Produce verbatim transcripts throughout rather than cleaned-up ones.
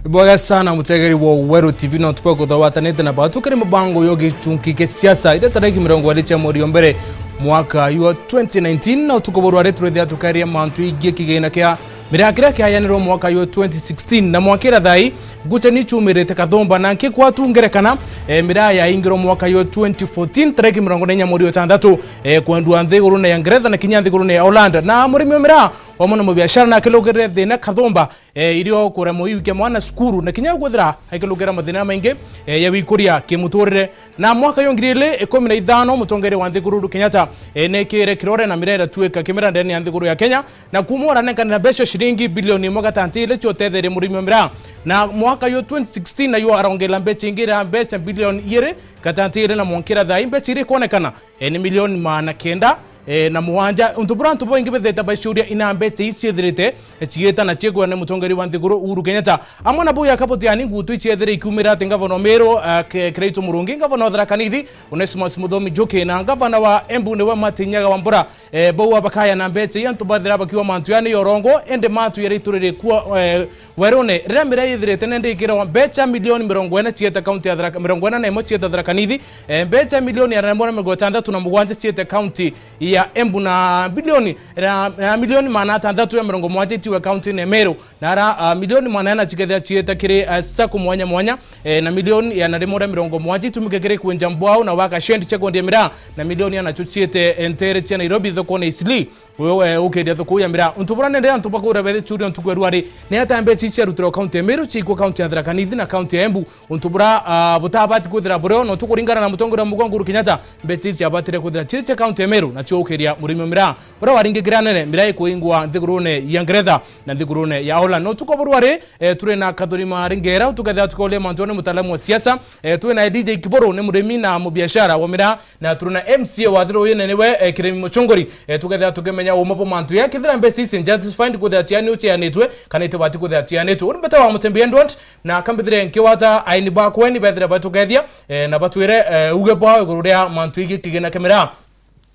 Ibwega sana mutegeri wa Weru T V, na utuku bwa kuthawatanite na batu kiri mubango yo gichunki kia siasa, ira tariki mirongo iri cia mweri wa mbere mwaka wa twenty nineteen, na utuku burwari turithia tukaria mantu igie kigina kia miraa kiria kiayanirwo mwaka wa twenty sixteen, na mwakira thai nguchani chumirite kathumba, na nkikwa tu ngerekana, eh, miraa yaingirwo mwaka wa twenty fourteen, tariki mirongo ina inya mweri wa tandatu, eh, kwendwa nthigurune ya Ngeretha na kinya nthigurune ya Holland, na murimi wa miraa wamwe na mubiashara na akilugirire thina kathumba, eh, irio kuremwo iukia mwana cukuru, na kinya kwithira akilugira mathina maingi, eh, ya wikuria kimuturire. Na mwaka yo ngiri igiri ikumi na ithano, mutongeria wa nthiguru Uhuru Kenyatta, eh, nekire kirore na miraa iratuika kimera ndene ya nthiguru ya Kenya, na kuma uranenkanira mbeca ciringi bilioni imwe gatanti iri cio utetheria murimi wa miraa. Na mwaka yo twenty sixteen nayo arongerera mbeca ingi iria mbeca bilioni igiri gatanti iri, na mwankira thai mbeca iria ikwonekana, eh, ni milioni maana kenda, eh, na mugwanja. Untu bura antu baingi bethete baciuria ina mbeca ii ciithirite, eh, ciita na ciigwa ni mutongeria wa nthiguru Uhuru Kenyatta. Amwe na bau ya kabutiani ngutu iciethire ikiumira ati ngavana wa Meru, eh, Ke-, Kiraitu Murungi, ngavana wa Tharaka Nithi, Onesmus Muthomi Njuki, na ngavana wa Embu niwe Martin Nyaga Wambura, eh, bau abakaya na mbeca ii antu bathira bakiwa mantu yani yorongo, indi mantu yari turire kuo, eh, werune. Riria miraa yithirite nende ikirwa mbeca milioni mirongo ina cieta kaunti ya Tharaka, mirongo ina na imwe cieta Tharaka Nithi, eh, mbeca milioni igana rimwe na mirongo itantatu na mugwanja ciete kaunti ya Embu, na bilioni, na, na milioni maana atantatu ya mirongo mugwanja itiwe kaunti ya Meru, na ara, ah, milioni maana ina cikethira ciete kiri, ah, sacco mwanya mwanya, eh, na milioni igana rimwe na mirongo mugwanja itumike kiri kwenja mbwau na waka shed cia kwendia miraa, na milioni igana cio ciete, eh, ntere cia Nairobi thokone Eastleigh. Uyo, eh, ukiendia thoko ya miraa. Untu bura nende antu bakura bethe churia ntuku ya rwari, ni ata mbeca ici ciarutirwa kaunti ya Meru, ciikwa kaunti ya Tharaka Nithi na kaunti ya Embu? Untu bura, ah, butabati kwithira burio, no tukuringana na mutongoria wa mugongo Uhuru Kenyatta, mbeca ici ciabatire kwithira ciri cia kaunti ya Meru, na cio ukiria murimi wa miraa. Uria waringigira nene, miraa ikuingwa nthigurune ya Ngeretha na nthigurune ya Holland. No tuko burwari, eh, turi na Kathuri Maringera, tukethira tukoria mantu ni mutaalamu wa siasa. Eh, turi na D J Kiburu, ni murimi na mubiashara wa miraa, na turi na M C A wa Thiru uyu nene we, eh, Kirimi Muchunguri. Eh, tukethira tukimenya uma bwa mantu ya kethira mbeca ici justified kwithira ciani ucianitwe, kana itibati kwithira cianitwe. Uri mbeta wa Mutembi Edward, na kambithire nkiwata aini bakwe ni bethire batukethia, eh, na batwire, eh, uge bwao iguru ria mantu igi kigina kia miraa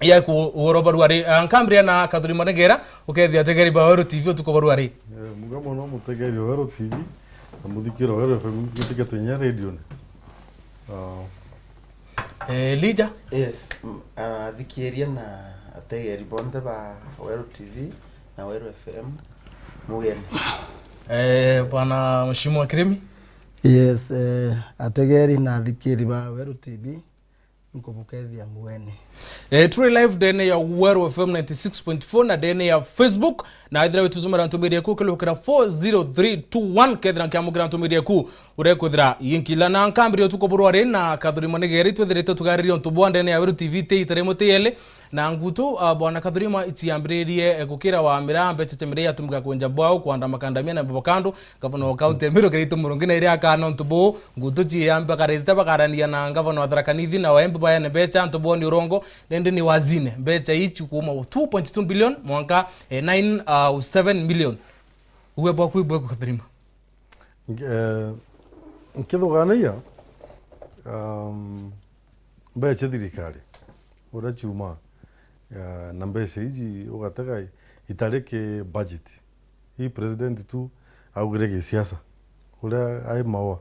ya ku ugoro barwari. Ah, nkambiria na Kathuri Maringera, ukethia ategeri ba Weru T V utuko barwari. Eh, muga mono mutegeri wa Weru T V, na muthikiro wa Weru F M, mutige twenye radio ni. Ah. Eh, Elijah? Yes, m-, athikiria na ategeri bonthe ba Weru T V na Weru F M, mugeni. Eh, bwana Mheshimiwa Kirimi? Yes, eh, ategeri na athikiri ba Weru T V, nkubukethia mugeni. Eh, turi live ndene ya Weru F M ninety six point four na ndene ya Facebook, na ethira witusomera ntumiri yaku ukilukira four zero three two one, kethira nkiamukira ntumiri yaku urekwithira yinkila. Na nkambiria utuku burwari na Kathuri Manigeri, twithirite tugaririe untu bwa ndene ya Weru T V ti ita rimwe ti eli, na ngutu, ah, bwana Kathuri ma iciambiririe, eh, gukira wa miraa mbeca cia miraa yatumika kwenja bwau, kwanda makandamia na mbabakando, Gavana wa kaunti ya Meru Kiraitu Murungi na iria akana untu buu, ngutu ciiyambe bakarite bakarania na gavana wa Tharaka Nithi na wa Embu bayane mbeca antu boni urongo, nende ni wazine mbeca ici kuuma two point two billion mwanka, eh, nine, uh, seven million. Uwe bwaku ibwe kutharima. Nk-, eh, nkithuganagia, um, mbeca thirikari, uria ciuma, eh, na mbeca iji ugatega itari ki budget. Ii president tu augire gisiasa. Uria ai maua.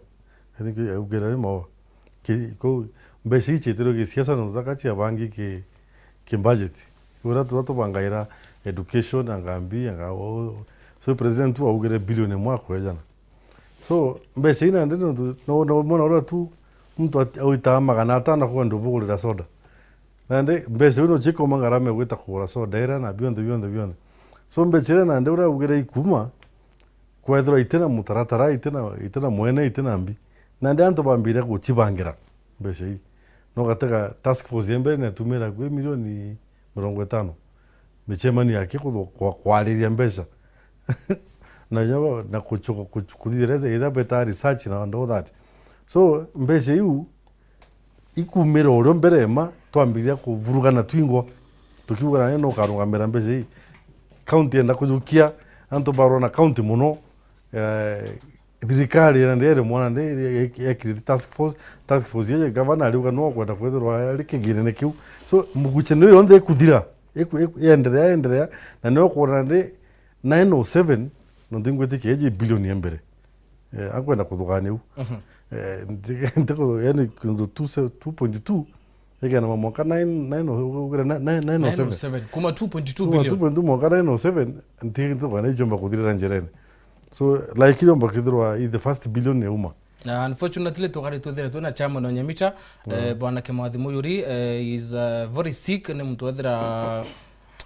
I think augire ai maua. Ki-, ku-, mbeca ii cietirwe gisiasa na uthaka ciabangi ki, ki budget. Uria turia tubangaira education, anga mbi, anga o-, so president tu augire billion imwe akwejana. So, mbeca ii nandi nontu, no, no, mwana uria tu muntu at-, awitaa magana atano kwenda ubugurira soda. Nandi mbeca iu nocio ikauma ngarama ya gwita kugura soda iria na bionthe, bionthe, bionthe. So mbeca iria nandi uria augire ikuma, kwethirwa itina mutaratara, itina, itina mwene, itina mbi. Nandi antu bambiria gucibangira mbeca ii. No gatega task force ya mbere netumira kwi milioni mirongo itano. Micemanio yake kuthu-, kwa-, kwariria mbeca. Na inya bo-, na kuchuka, kuchu-, kuthithira iria beta research na and all that. So, mbeca iu, ikumira urio mbere ma, twambiria kuvurugana twingwa, tukiuga nani no ukarugamira mbeca ii. County yenda kujukia, antu barwa na county muno, eh, thirikari yenda ndere mwana nde, ye-, ye-, yekirite task force, task force yeje gavana ariuga no kwenda kwethirwa ari kigirene kiu. So, muguchanio yonthe ikuthira, iku-, iku-, yenderea, yenderea, na nio kwona ndi nine oh seven, no ntingwitikia iji billion ya mbere. Eh, akwenda kuthugania u. Mhm. Eh, nti-, nti ku-, yani, kintu two se-, two point two, ikena mwanka nine, nine o-, ugire na-, nine, nine o seven. Nine o seven. Kuma two point two billion. Kuma two point two mwanka nine o seven, nti, nti thugania ijomba kuthirira njirene. So, like, ijomba kithirwa i the first billion yauma. Na unfortunately, tukari twithire twina chairman o Nyamita, eh, Bwana Kimathi Muyuri, eh, is, uh, very sick, ni muntu wethira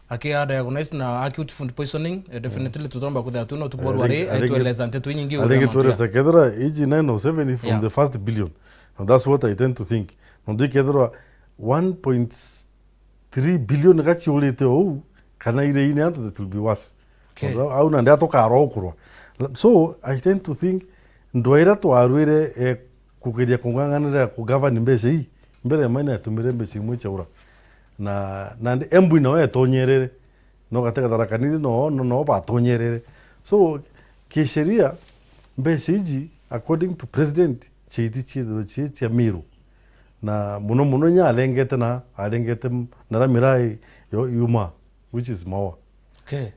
akidiagnose na acute food poisoning, eh, definitely tutomba kwithira twina utuku bwa rwari, aitueleza nteto inyingi uria mantu ya. Aringi tueleza kethira iji nine o seven from the first billion. And that's what I tend to think. Nontu kethirwa one point three billion gaciurite ou, kana iriine antu, that will be worse. Okay. Au nandi atukarwa ukurwa. So, I tend to think, ndwa iria twarwire, eh, kugeria kung'ang'anira ku govern mbeca ii, mbere ya maina yatumire mbeca imwe ciaura. Na, nandi Embu nawe etonyerere. No gatega Tharaka Nithi no, no, no batonyerere. So, kisheria, mbeca iji, according to president, ciiti ciithirwe cii cia Meru. Na muno muno inya arengete na, arengete m-, na ra miraa yo yuma, which is maua. Okay.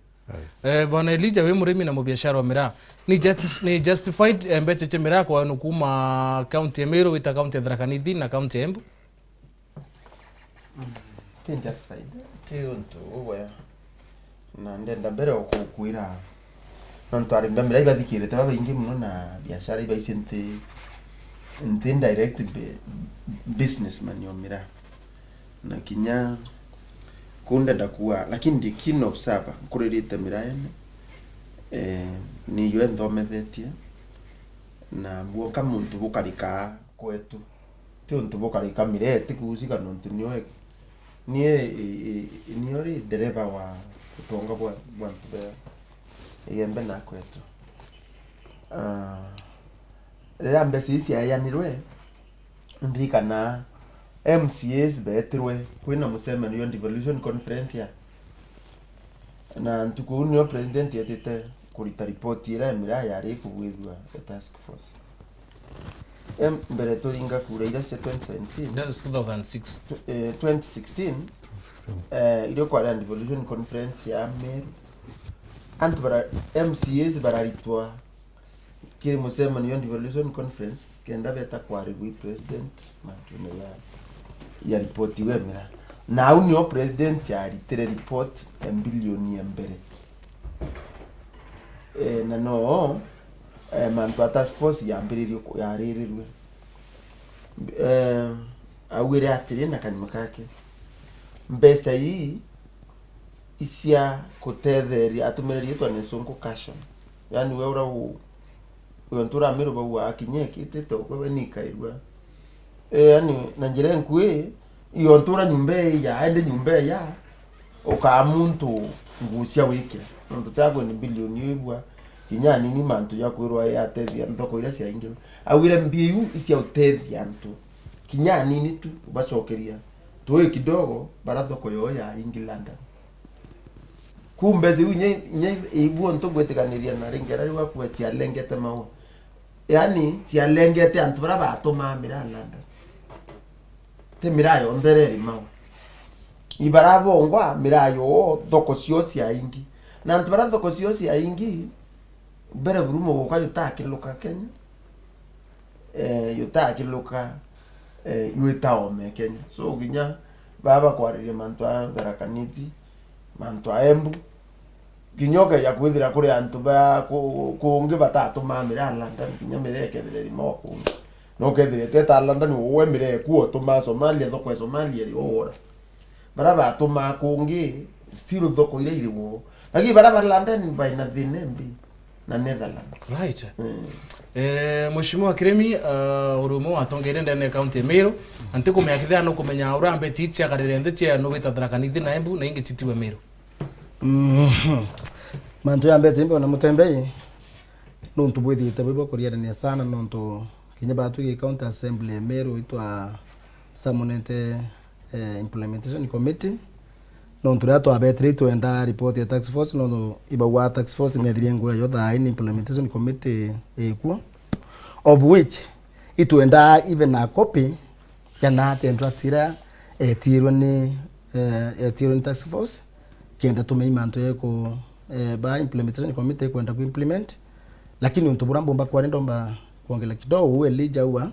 Aye. Eh, Bwana Elijah, wi murimi na mubiashara wa miraa. Ni justi-, ni justified, eh, mbeca cia miraa kwa nu kuma county ya Meru wita county ya Tharaka Nithi na county ya Embu? Mm, ti justified. Ti untu ugwe. Na ndenda mbere o kukwira, nontu arimi ba miraa ibathikirite babaingi muno na biashara ibaici nti, nti direct bu-, businessman o miraa. Na kinya kuu ndenda kuuga, lakini ndi keen observer, nkuririte miraene. Eh, niyo enthomethetie. Na mbwonka muntu bukarikaa kwetu. Ti untu bukarika miraa, ti kuusika nontu nio e-, nie, e-, e-, nio ri ndereba wa utonga bwa, bwa antu ba Igembe na kwetu. Ah, riria mbeca ii ciaeanirwe, ndirikana M C As beetirwe kwina mucemanio, devolution conference ya, na ntuku iu nio president etite kurita ripoti iria ya miraa yari ikugwithua the task force. Em, mbere turinga kura iria cia twenty seventeen. That is two thousand six. Tw-, eh, twenty sixteen, eh, irio kwari na devolution conference ya Meru. Antu bara, M C As bararitwa kiri mucemanio ya devolution conference, kenda beta kwarirua i president mantune ya, ya report iu ya miraa. Na au nio president aritire report ya mbilioni ya mbere. Eh, na no, eh, mantu a task force yambiririe ku-, yaririrue. Eh, augire atiri na kanyuma kake, mbeca ii icia kutetheria, atumire riitwa ni sungu cushion. Yani we ura u-, uyo ntura miru bau akinyekitite ukwe we ni ikairua. Eh, yani na njira inkui, iyo ntura nyumba iya, ende nyumba iya, ukaa muntu nguu cia wikira. Nontu tia kwenda mbilioni uigua, kinya anini mantu ja kwirwa yatethia thoko iria ciaingirwe. Augire mbia iu icia utethia antu, kinya anini tu, ubacokeria tui kidogo, bara thoko yoo yaingi London. Ku mbeca iu inya, inya igua ntu ngwitikaniria na ringera riu akua cialengete maua. Yani, cialengete antu bara batumaa miraa London. Ti miraa yonthe ireri maua. Ibara bongwa miraa yoo, thoko cio ciaingi. Na antu bara thoko cio ciaingi, mbere buru muguka jutakiluka Kenya. Eh, jutakiluka, eh, jwita ome Kenya. So, kinya baba kwariria mantu a Tharaka Nithi, mantu a Embu, kinya ukeja kwithira kuri antu ba ku-, kungi batatumaa miraa London, kinya miraa ikethira irima o kungi. No ukethira iteta London, uwe miraa eku otumaa Somalia, thoko ya Somalia iri ugura. Bara batumaa kungi, still thoko iria iri wo. Lakini bara ba London baina thina imbi na Netherlands. Right. Mm. Eh, Mheshimiwa Kiremi, uh, uri umwe wa atongeria ndene ya county ya Meru, na ntikumenya kethira nukumenya uria mbeca ii ciagarire nthi cia nubita Tharaka Nithi na Embu na ingi citiwe Meru. Mhm. Mantu ya mbeca imbi ona mutembei, nuntu bwithite bwi bwa kuriarania sana, nontu kinya batwi gi county assembly ya Meru itwa summonete, eh, implementation committee, nontu riria twabetire itwenda report ya task force, nontu ibauga task force niethirie nguo yayo thaa ini implementation committee ikuo, of which itwenda even a copy ya na draft iria etirwe ni, eh, etirwe ni task force, kenda tumei mantu yeku, eh, ba implementation committee ikwenda ku implement, Lakini untu buria mbumba kwari ndomba kwongela kidogo, uu Elijah aua,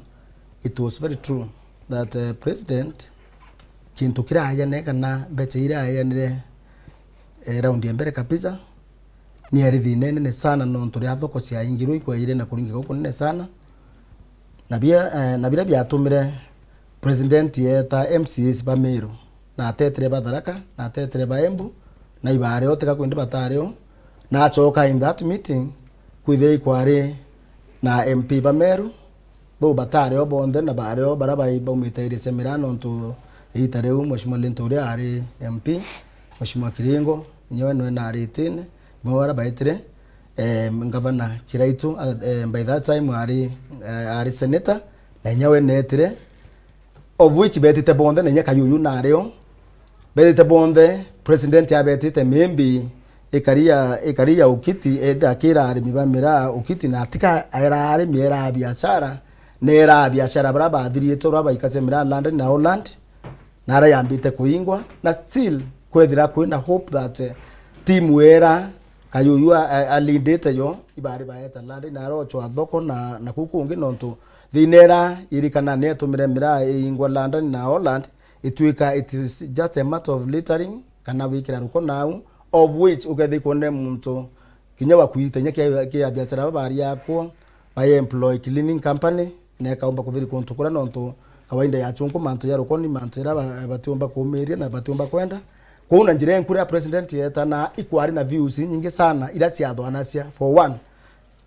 it was very true that, eh, president, kintu kiraeane kana mbecha iraeanire, eh, round ya mbere kabisa, ni ari thina inene sana, nontu ria thoko ciaingirwe ikwaire na kuringika gukunene sana. Na bia, eh, na biria biatumire president eeta M C As ba Meru, na atetire ba Tharaka, na atetire ba Embu, na ibaari o tiga kwindi batari o. Na acoka in that meeting, kwithira ikwari na M P ba Meru, bau batari o bonthe, na baari o baria bai-, baumite area cia miraa, nontu iita riu Mheshimiwa Linturi uria ari M P, Mheshimiwa Kiringo, inyewe nwe na ari itine, bamwe baria baetire, eh, Ngavana Kiraitu, eh, by that time ari, eh, ari senator, na inyewe neetire, of which betite bonthe, na inya Kayuyu nari o. Betite bonthe, president abetite, maybe ikari ya, ikari ya Ukiti, ethe akira arimi ba miraa Ukiti, na atika era arimi, era biashara, na era biashara baria bathiriite, baria baikacia miraa London na Holland, na ara yambite kuingwa, na still kwethira kwina hope that, eh, team era Kayuyu a-, a-, alindite yo, ibari baeta London, na arochwa thoko na, na kuu kungi, nontu thina era irikana ni etumire miraa iingwa London na Holland, itwika it is just a matter of littering, kana wikira ruko nau, of which ukethia ikwone muntu kinya wakuite inya kia, kia biashara babaria akwo, ba employ cleaning company, na ikaumba kuthiri kuntu kuria, nontu kawaida ya chunku mantu ya ruko ni mantu jaria ba-, batiumba kuumiria na batiumba kwenda. Kwou na njira enku riria president yeetana, ikwari na views inyingi sana iria ciathwanacia. For one,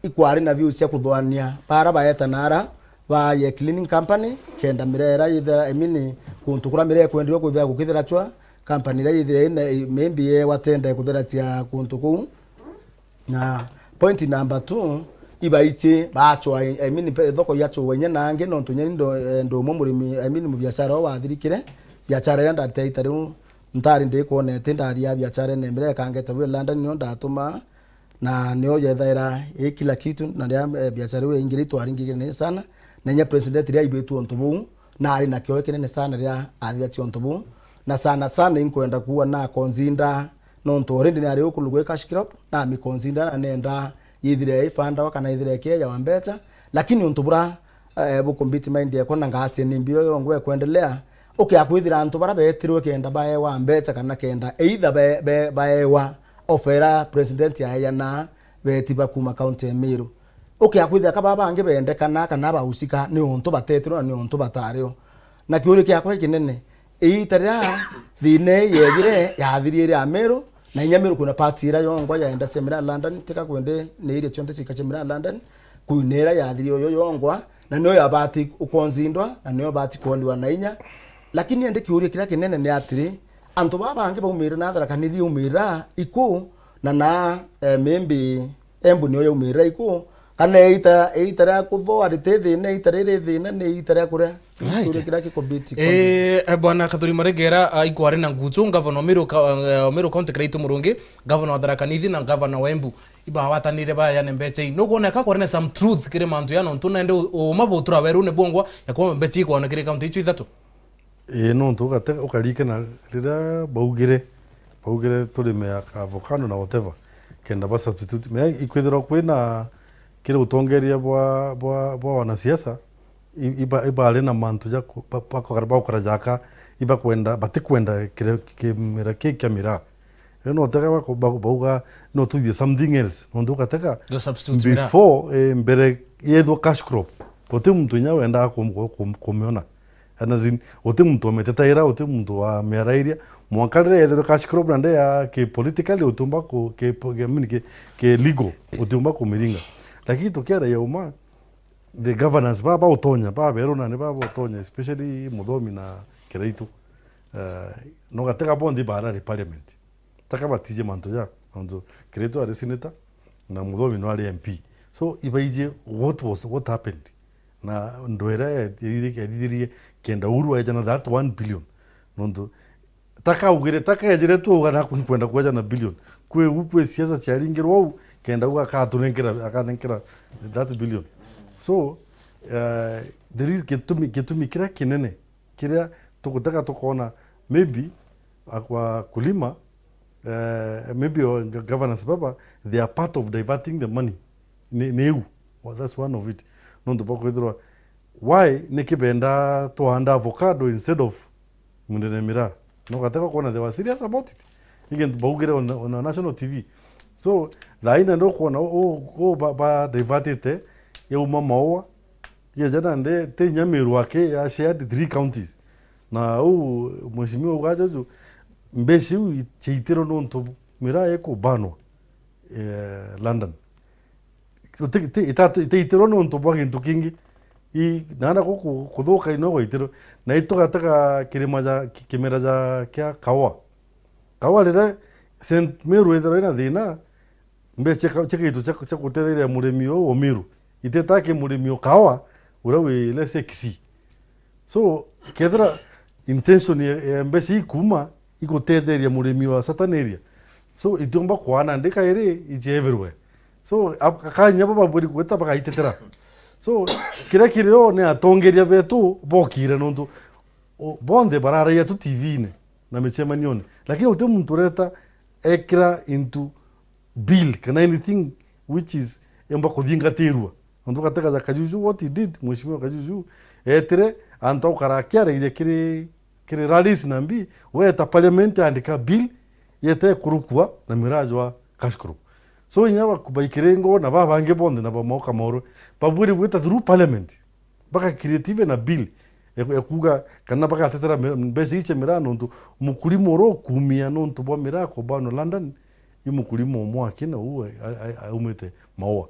ikwari na views cia kuthwania bara baetana ara ba ye cleaning company, kenda miraa ira yithira, I mean, kuntu kuria miraa ikwendirwe kwithira gukithirachwa, company iria yithira ina, maybe yewa tenda kuthiracia kuntu kuu. Na point number two, ibaiji bachwa, I mean, pe-, thoko yachwa inya na angi, nontu nyeni ndo, eh, ndo umwe murimi, I mean, mubiashara o wathirikire, biashara iria ndarite ita riu ntari ndikwonete ndaria biashara ene miraa ikangeta wi London nio ndatuma, na nio yethaira i kila kitu, na ria, eh, biashara iu yaingire itwaringire ni sana, na inya president ria aibitwe untu buu, na ari na kioe kinene sana ria athithia ciontu buu, na sana sana inkwenda kuua na consider, nontu already ni ari uku lugwe cash crop, na mi consider na nenda yithire ifandawa kana ithire ikiejwa mbecha, lakini untu bura eh, bukumbiti mind yakwa na ngacia ni mbio yongwa ekwendelea. Ukia kwithira antu bara betirwe kenda baewa mbecha kana kenda either be-, be-, baewa offer president aeana beti ba kuma county ya Meru. Ukia kwithira ka baba bangi bendekana kana bausika ni untu batetirwe na ni untu batario. Na kiuria kiakwa ikinene, iita riria thina ii yejire, yathirire Ameru, na inya Meru kwina part iria yongwa yaenda cia miraa London, tika kwende ni iria cionthe ciika cia miraa London, kwina iria yathirire yo yongwa, na niyo yabati ukonzindwa, na niyo bati kuoliwa na inya. Lakini indi kiuria kiria kinene ni atiri, antu baa bangi baumire na Tharaka Nithi yaumira iku, na na, eh, maybe Embu niyo yaumirira iku, kana iita, iita ria kuthoa riti thina, iita riri thina ni iita ria kuria? Right. Kiuria kiria kikumbiti. Eh, eh, Bwana Kathuri Maregera, ah, ikwari na nguchu, ngavana wa Meru ka-, eh, Meru County Kiraitu Murungi, ngavana wa Tharaka Nithi na ngavana wa Embu. Ibagwatanire bayane mbecha ii. Nukwona ka kwari na some truth kiri mantu ya nontu nende u-, uuma butura werune bwongwa ya kwamba mbecha ikwana kiri county icio ithatu? Ii, nontu ugate-, ukarikana riria baugire, baugire turime ya avocado na whatever, kenda ba substitute. Me ikwithirwa kwina kiri utongeria bwa, bwa, bwa wanasiasa, i-, iba-, ibari na mantu ja ku-, ba-, bakora-, bakora jaka, ibakwenda, batikwenda kire-, kimera ki kia miraa. Riu no utega bako-, ba-, bauga, no tuthie something else. Nontu ugatega, before, eh, mbere yethwa cash crop, guti muntu inya wendaga kum-, kum-, kumiona. And as in, guti muntu wamitetaira, guti muntu wamiarairia. Mwanka riria yethirwe cash crop na nde ya ki politically utiumba ku-, ki po-, ki, I mean, ki, ki legal, utiumba kumiringa. Lakini tukiaraia uma, the governance ba, ba utonya, ba beru na ni ba utonya, especially Muthomi na Kiraitu. Eh, no gatega bonthe barari parliament. Taka batije mantu ja, mantu Kiraitu ari senator, na Muthomi no ari M P. So, ibaije what was, what happened. Na ndwera ya, ya, ya, ya, kenda Uhuru aeja na that one billion. Nontu, taka ugire, taka ejire tu uga na kwenda kueja na billion. Kwi u, kwi siasa ciaringirwo au, kenda uga akatunenkera, akanenkera that billion. So, uh, there is gitumi, gitumi kiria kinene, kiria tugutega tukona, maybe, akwa kulima, eh, maybe o ga-, governance baba, they are part of diverting the money ni, ni iu. Well, that's one of it. Nontu bwa kwithirwa, why niki benda twanda avocado instead of mundene miraa? No gateka kuona they were serious about it. Ni gintu baugire on, on a national T V. So, thaa ina ndio kuona u, u, u ba, ba divertite, yauma Maua, yeja nandi ti inya Meru aki, ya shared three counties. Na u mheshimiwa ugaja ju, mbeca iu ciaitirwe nontu miraa ikubanwa, eh, London. Ti, ti, itatu, itaitirwe nontu bwa gintu kingi. I, naana ku, ku, kuthuka ino gwaitirwe. Na itugatega kirima ja, ki-, kimera ja, kia kawa. Kawa riria Saint Meru ithirwa ina thina, mbeca cia ka-, cia gintu cia, cia gutetheria murimi o, o Meru, iteta ki murimi o kawa, uria wi, let's say, Kisii. So, kethira intention ya, ya mbeca ikuma, igutetheria murimi wa certain area. So, itiumba kwana ndi kairi, iji everywhere. So, ab-, akanya baba babwiri gwita bagaitetera. So, kiria kirio ni atongeria betu bokire nontu, o, bonthe bararagia tu T V-ini na micemanione. Lakini uti muntu ureta ekira into bill kana anything which is yomba kuthingatirua. Nontu gatega ja Kajuju, what he did, Mheshimiwa Kajuju, etire antu aukara akiarairia kiri, kiri rallies na mbi, weta parliament andika bill, yete kurukua na miraa jwa cash crop. So inya ba-, baikiringwa na babangi bonthe na bamoka morwe, babwiri gwita through parliament. Baka create even a bill ya, ya kuuga kana bagatetera mi-, mbeca ici cia miraa nontu mukulima uria ukumia nontu bwa miraa kubanwa London, i mukulima umwe aki na uu a-, a-, a-, aumite Maua.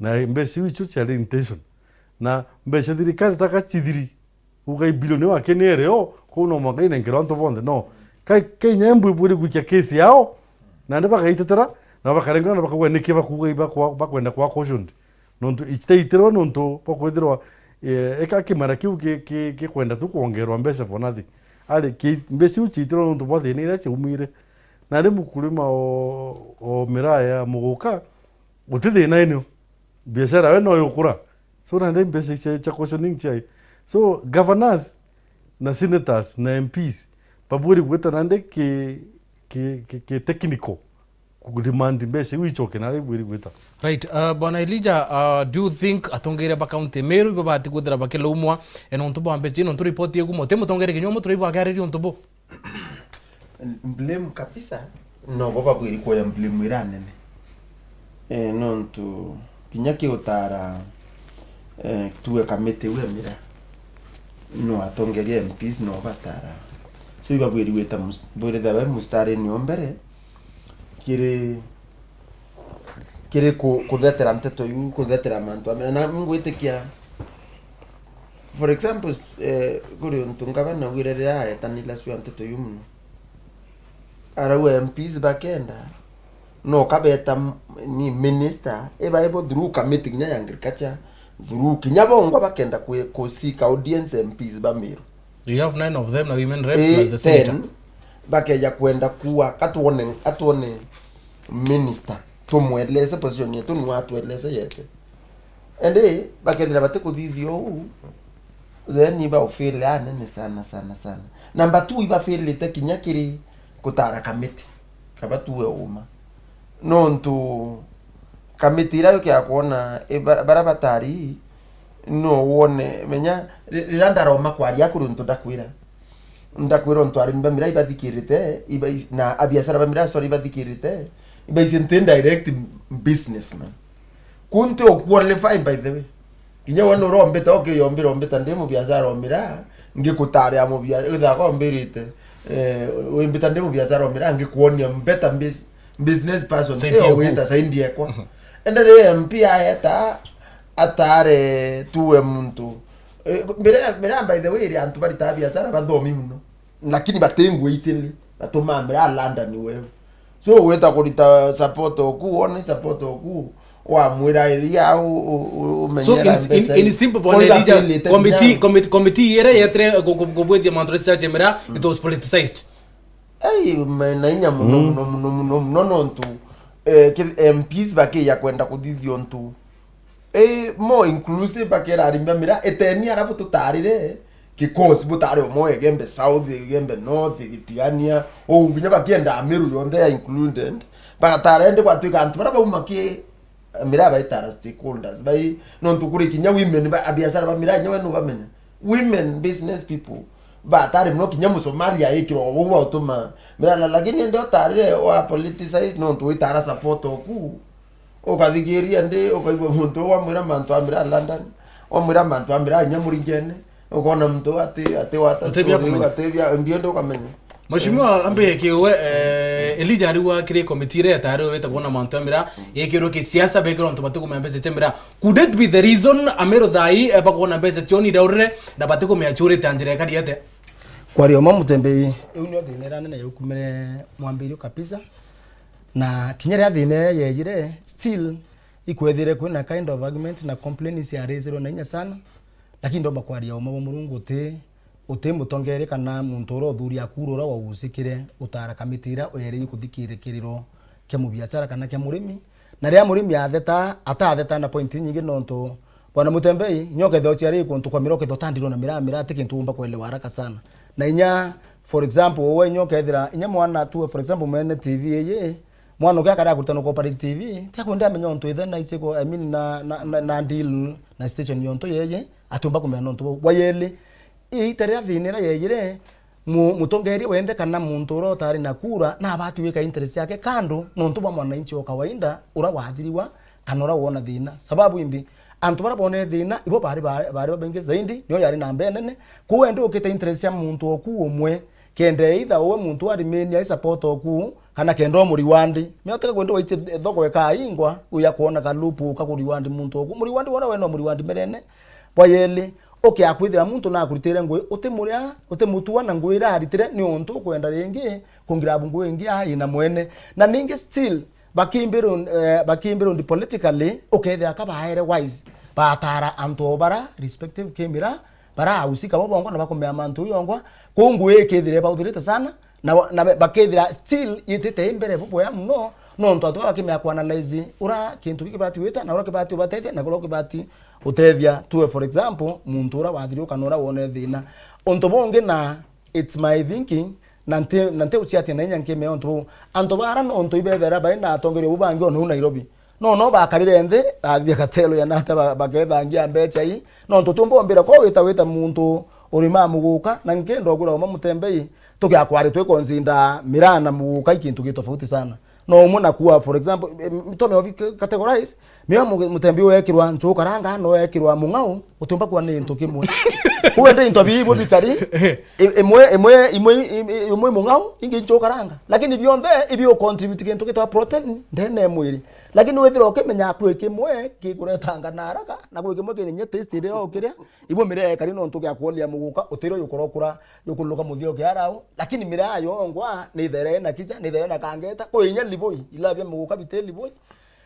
Na mbeca iu icio ciari intention. Na mbeca thirikari taka cithiri, uga i bilioni wake ni ereo, kou no mwanka inenkerwa antu bonthe. No. Kai, Kenya embwi bwiri gwikia case yao, nandi bagaitetera, na bakarengwa na bakauga niki bakuuga ibakwa-, bakwenda kwa cautioned. Nontu itaitirwe nontu bwa kwithirwa, eh, eka kimera kiu ki, ki, gikwenda tu kwongerwa mbeca for nothing. Ari ki, mbeca iu ciaitirwe nontu bwa thina iria ciaumire. Nandi mukulima o, o miraa ya muguka, guti thina inio. Biashara we no yukura. So nandi mbeca cia, cia cautioning ciai. So governors na senators na M Ps babwiri gwita nandi ki, ki, ki, ki technical. Ku demand mbeca iu icoke na riu bwiri gwita. Right, uh, Bwana Elijah, uh, do you think atongeria ba county Meru ibo bati kwithira bakilaumwa, eh, nontu bwa mbeca ino? Nontu report iu kuma uti mutongeria kinya umwe turaigua akiariria untu bu. Blame kabisa, no bo babwiri kuoya blame iria nene. Eh, nontu kinya kiutara, eh, tuwe kamiti iu ya miraa, no atongeria M Ps no batara. So ibabwiri gwita mus-, bwirithia we mustarini o mbere, kiri, kiri ku-, kuthetera nteto iu, kuthetera mantu a miraa. Na ngwitikia, for example, eh, kuri untu ngavana augire riria aetanira cio nteto iu mono, arauga M Ps bakenda, no kabeta m-, ni minister, iba ibo through committee kinya ya agriculture, through kinya bongwa bakenda kwi-, kusika audience M Ps ba Meru. You have nine of them na women rep plus the senator. Then, bakeja kwenda kuwa, katuone, atuone minister, tumweleze position yetu, ni watueleze yetu. Indi bakethira batikuthithia uu, then iba ufeel anene sana, sana, sana. Number two, iba feelite kinya kiri kutara kamiti, kaba tuwe uma. Nontu kamiti iria yukia kwona, i ba-, baria batari, no wone, menya, ri-, riria ndaroma kwaria kuri untu ndakwira. Ndakwira untu arimi ba miraa ibathikirite, iba-, na abiashara ba miraa, sorry, ibathikirite, ibaicite direct businessman. Ku nti u qualify, by the way. Kinya we nurombita, ukiyombira, ombita ndi mubiashara o miraa, ngikutaria mubia-, withaga ombirite, eh, wimbita ndi mubiashara o miraa, ngikwonia better bus-, business person, saidi iyo yaku. Wita saidi ekwa. Mhm. Ende ri M P aeta, atare tuwe muntu. Eh, miraa, miraa, by the way, iri antu baritaga biashara bathomi mono. Lakini bati ngwitili, batumaa miraa London wewe. So, wita kurita support oku, wone support oku, wamwira iria u-, u-, u-, So, umenyera in, in, mbeca in ii. Simple, Bwana Elijah, committee, committee, committee iria yetire ku-, ku-, kubwithia mantu research miraa, it was politicized. Ei, me-, na inya mono, mm, mono, mono, mono, mono, nontu, eh, ki-, M Ps bakiya kwenda kuthithia untu. Eh, more inclusive, bakera arimi ba miraa, eteni arabu tutarire, because butari umwe, Igembe South, Igembe North, Gitigania, uu nginya bakienda Meru yonthe ya included, bagatara indi gwatwika antu baria bauma ki, Miraa baitara stakeholders, bai, nontu kuri kinya women ba, abiashara ba miraa, nyawe nubamenya. Women business people. Batari muno kinya Musomalia aikirwa uu wautuma miraa, na lakini indi utarire wa politicize nontu witara support oku. Ukathikiria ndi, ukaigua muntu uu wamwira mantu a miraa London, wamwira mantu a miraa kinya Muringene, ukona muntu uu ati, ati wata Utebia story, kumenya. Ugatebia, ndio ndi ukamenya. Mheshimiwa, ambe kiwe, eh, Elijah ariwa kiri komiti iria yetari wete kuona mantu ya miraa, yekirwe kisiasa, bekirwe antu batikumenya mbeca cia miraa. Could it be the reason Ameru thai, eh, bakuona mbeca cio ni ndaurire, na batikumenya ciurite a njira ikari ate? Kwaria uma Mutembei, iu nio thina iria nene yaukumire mwambirio kabisa. Na kinya ria thina iria yejire, still, ikwethire kwina kind of argument na complaints ya raisirwe na inya sana. Lakini ndomba kwaria uma bwa Murungu uti, uti mutongeria kana muntu uria uthuri akuru uria wausikire utara kamiti iria uereirwe kuthikirikiriro kia mubiashara kana kia murimi. Na riria murimi atheta, atatheta na point inyingi nontu, Bwana Mutembei, nyo kethira uciari kuntu kwa miraa, kethira utandirwo na miraa, miraa ti kintu umba kuelewa haraka sana. Na inya, for example, we nyo kethira, inya mwana tu, for example, mwene T V iyi, mwana ukia kare akuritana kwa operate T V, ti akwenda amenya untu ithe na iciko, I mean, na, na, na, na deal na station yontu yeye, atiumba kumenya nontu bau. Bwa yeli, iita riria thina iria yeyire, mu-, mutongeria wenthe kana muntu uria utari na kura, nabati wika interest yake kando, nontu bwa mwananchi o kawaida, uria wathiriwa, kana uria wona thina. Sababu imbi, antu baria bonere thina, ibo bari ba-, bari babaingi zaidi, nio yari namba enene. Kwou endi ukite interest ya muntu oku umwe, kenda either uwe muntu arimenia ai support oku, kana kenda umuriwandi. Mioteka kwendi waiche thoko ikaingwa, uya kuona kalupu uka kuriwandi muntu oku. Muriwandi wona we no muriwandi merene. Bwa yeli, ukia kwithira muntu nakuritire ngui, utimuria, utimutua na ngui iria aritire, ni untu ukwenda ringi, kungira bu ngui ingi ai na mwene. Na ningi still, bakimbirwo, eh, bakimbirwo ndi politically, ukethira ka baere wise, batara antu o bara respective kimira, bara ahusika bo bongwa na bakumea mantu yongwa, kuu ngui ikethire bauthirite sana, na, na bakethira still yitite i mbere bubwea muno, nontu antu baba bakimea kuanalyze ura kintu giki kibati gwita, na ura kibati ubatethia, na ura kibati utethia. Tuwe, for example, muntu ura wathiriuka na ura wone thina. Untu bungi na, it's my thinking, na nti, na nti uciatia na inya nkimea untu buu. Antu bara nontu ibethera bai na atongeria bu bangi ona u Nairobi. No, no bakarire nthi, athia katelo ya nata ba-, bakethangia mbecha ii. Nontu tiumba umbira ko wita, wita muntu urima muguka, na nkenda ugura uma Mutembei, tugiakwari twikonzinda miraa na muguka i kintu gi tofauti sana. No umwe na kuwa, for example, em, tome obi categorize, miraa mu-, Mutembei uekirwa nchukaranga, no ekirwa mung'au, utiumba kuwa ni into kimwe. Kuwe ndi into bibo bikari, i-, imwe, imwe, imwe, imwe, imwe mung'au, ingi nchukaranga. Lakini bionthe, ibi u contribute kintu gitwa protein, ndene ya mwiri. Lakini withira ukimenya kwi kimwe gikuretanga na haraka, na kwi kimwe kiri nya taste iria ukiria, ibo miraa ikari nontu gia kuolia muguka, utiro yukurokura, yukuruka muthio kiarau, lakini miraa yongwa, ni ithere na kicha, ni ithere na kangeta, kwi inya liboi, ila bia muguka biti liboi.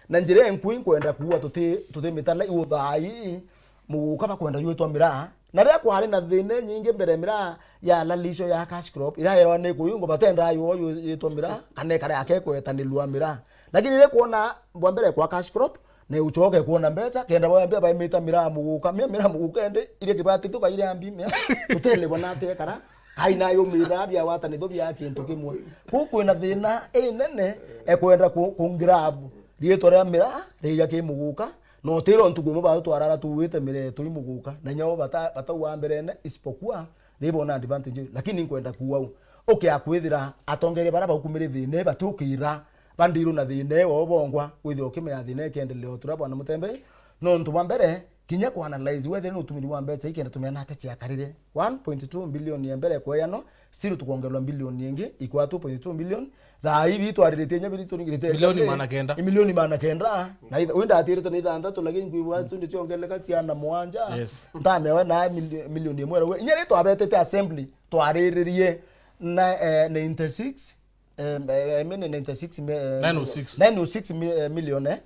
Na njira inkui nkwenda kuua tuti, tuti mitana iu thaa ii, muguka bakwenda jwitwa miraa. Na riria kwari na thina nyingi mbere, miraa ya lalisho ya cash crop, iraerwa ni kuyungwa, batendaa yo yitwa miraa, kana ikare ake kwetanilua miraa. Lakini riria kwona bwa mbere kwa cash crop, na uchoke kwona mbecha, kenda bwa mbere baimita miraa muguka, mia miraa muguka ende, iria kibati tuka iria mbi, mia, tutelebwa na ate kara, aina yo miraa bia watani tho bia kintu kimwe. Ku kwina thina inene, ekwenda ku, ku grab riitwa ria miraa, riija ki muguka, na utira untu kwimo batwarara tuwite mireto i muguka, na nyao bata, batauga mberene, isipokuwa, ni bona advantage, lakini nkwenda kuuga u, ukia kwithira atongeria bara baukumire thina, batukira, bandirwo na thina, o bongwa, withira ukimenya thina ikiendelea o turia bwana Mutembei, nontu bwa mbere, kinya ku analyze wethira ni utumiri wa mbecha ikenda tumenya nate ciakarire. One point two billion ya mbere kweyanwa, still tukwongerwa billion ingi, ikwa two point two billion. Thaa ii bitwariritie nya biri turingirite milioni magana kenda. Milioni magana kenda. Na itha, wenda atirite na ithanthatu, lakini kwibwa studio ciongeleka ciana mwanja. Yes. Ntamewe na mili-, milioni imwe rau. Inya ri twabetete assembly, twariririe na, eh, ninety six, eh, eh, I mean ninety six mi-, eh, nine oh six. Nine oh six mi-, eh, million, eh.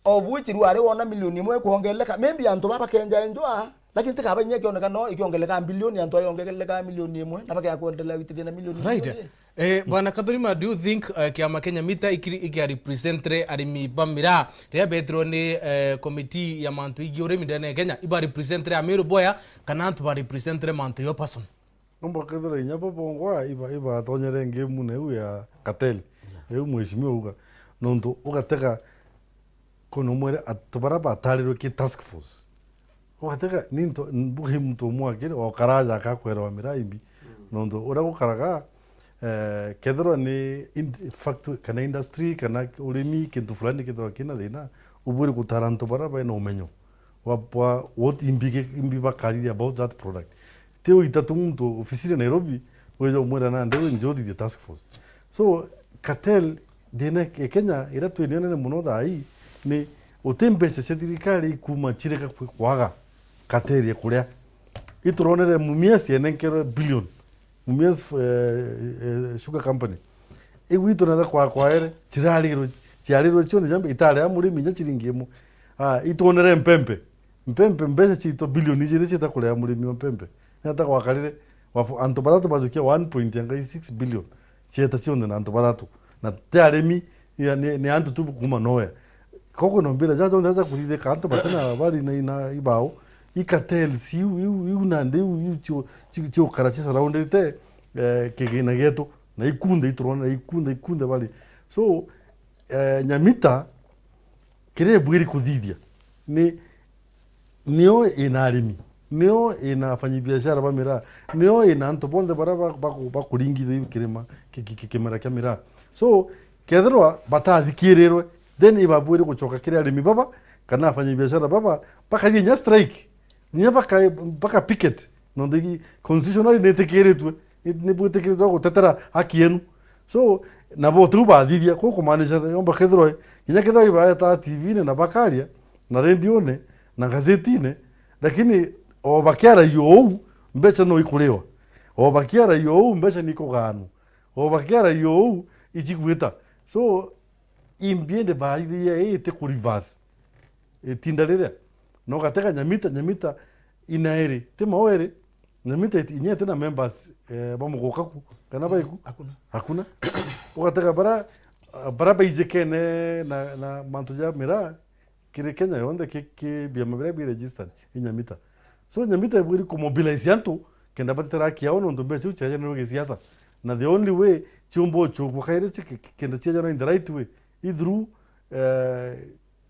Of which rwari wona milioni imwe kuongeleka. Maybe antu baba kenja enjwa, lakini tikaba inya ikioneka no ikiongeleka bilioni, antu ayongeleka milioni imwe, na bakea kuendelea witithia na milioni imwe. Right. Eh, Bwana Kathurima, do you think, eh, kiama Kenya Mita ikiri, ikia representre arimi ba miraa, riria betirwe ni, eh, komiti ya mantu igi urimi ndene ya Kenya, iba representre Ameru boya, kana antu ba representre mantu yo person? Nomba kethira inya bo bongwa iba-, ibatonyere ngemune iu ya cartel. Yeah. Iu mheshimiwa auga. Nontu ugatega Kono mwere antu bara batarirwe ki task force. Ugatega ni nto, mbuge muntu umwe akiri, o karaja akakwera wa miraa imbi. Nontu uria gukaraga, eh, kethirwa ni in-, factory, kana industry, kana urimi, kintu fulani kethirwa kina thina, ubwire gutara antu bara baina umenyo wa, wa what imbi ge-, imbi bakarithia about that product. Ti uita tu muntu ofisini Nairobi, wija umwira nandi, "We, njoo uthithie task force." So, cartel, thina e Kenya, iria twinenene mono thaa ii, ni uti mbeca cia thirikari ikuma cireka kwi-, kwaga cartel ya kuria. Ituronere Mumias yenenkerwe billion. Mumias, eh, eh, Sugar Company. Igwitu na kwa, kwaere, cirarirwe, ciarirwe cionthe jambe, itarea murimi inya ciringi imwe. Ah, itwonere Mpempe. Mpempe, mbeca ciitwa bilioni ijiri ciita kurea murimi wa Mpempe. Niata gwakarire, wafu-, antu bathatu bajukia one point six billion. Cieta cionthe na antu bathatu. Na ti arimi, ya, ni, ni antu tu kuma nowhere. Koko no mbira, jaja onthe jaja kuthithika antu batina bari na, na ibao. I cartels iu, iu, iu nandi iu, iu cio, cio, ciokara ci surrounded, eh, kigina gietu. Na ikunthe iturona, ikunthe, ikunthe bari. So, eh, Nyamita, kiria ibwiri kuthithia ni, nio ina arimi, nio ina afanyibiashara ba miraa, nio ina antu bonthe baria ba-, baku-, bakuringithia iu kirima, ki-, ki-, ki-, kimera kia miraa. So, kethirwa batathikirirwe, then ibabwiri gucoka kiri arimi baba, kana afanyibiashara baba, bakathie nya strike. Nya baka, baka picket. Nontu constitutionally nitikiritwe, ni, ni bwitikiritwe gutetera haki yenu. So, nabo tiu bathithia, kuu kumaanisha yomba kethirwa, kinya kethirwa ibaeta T V-ini na bakaria, na rendione, na ngazetine, lakini o bakiaragia uu, mbeca no ikuriwa. O bakiaragia uu, mbeca ni ikugaanwa. O bakiaragia uu, icigwita. So, imbiende baithiria ii ti ku reverse. Itinda riria, na ugatega Nyamita, Nyamita inaeri, ti maoeri, Nyamita iti-, inya iti na members, eh, ba muguka ku, kana baiku? Hakuna. Hakuna. Ugatega bara, ah, bara baijikene na, na mantu ja miraa, kiri Kenya yonthe ki, ki biama biria bi registered, i Nyamita. So, Nyamita ibwiri ku mobilize antu, kenda batetera haki yao, nontu mbeca iu ciajanirwe gisiasa. Na the only way ciumba ucukwa kairi ci-, ki-, ki-, kenda ciajanwa in the right way, i through, eh,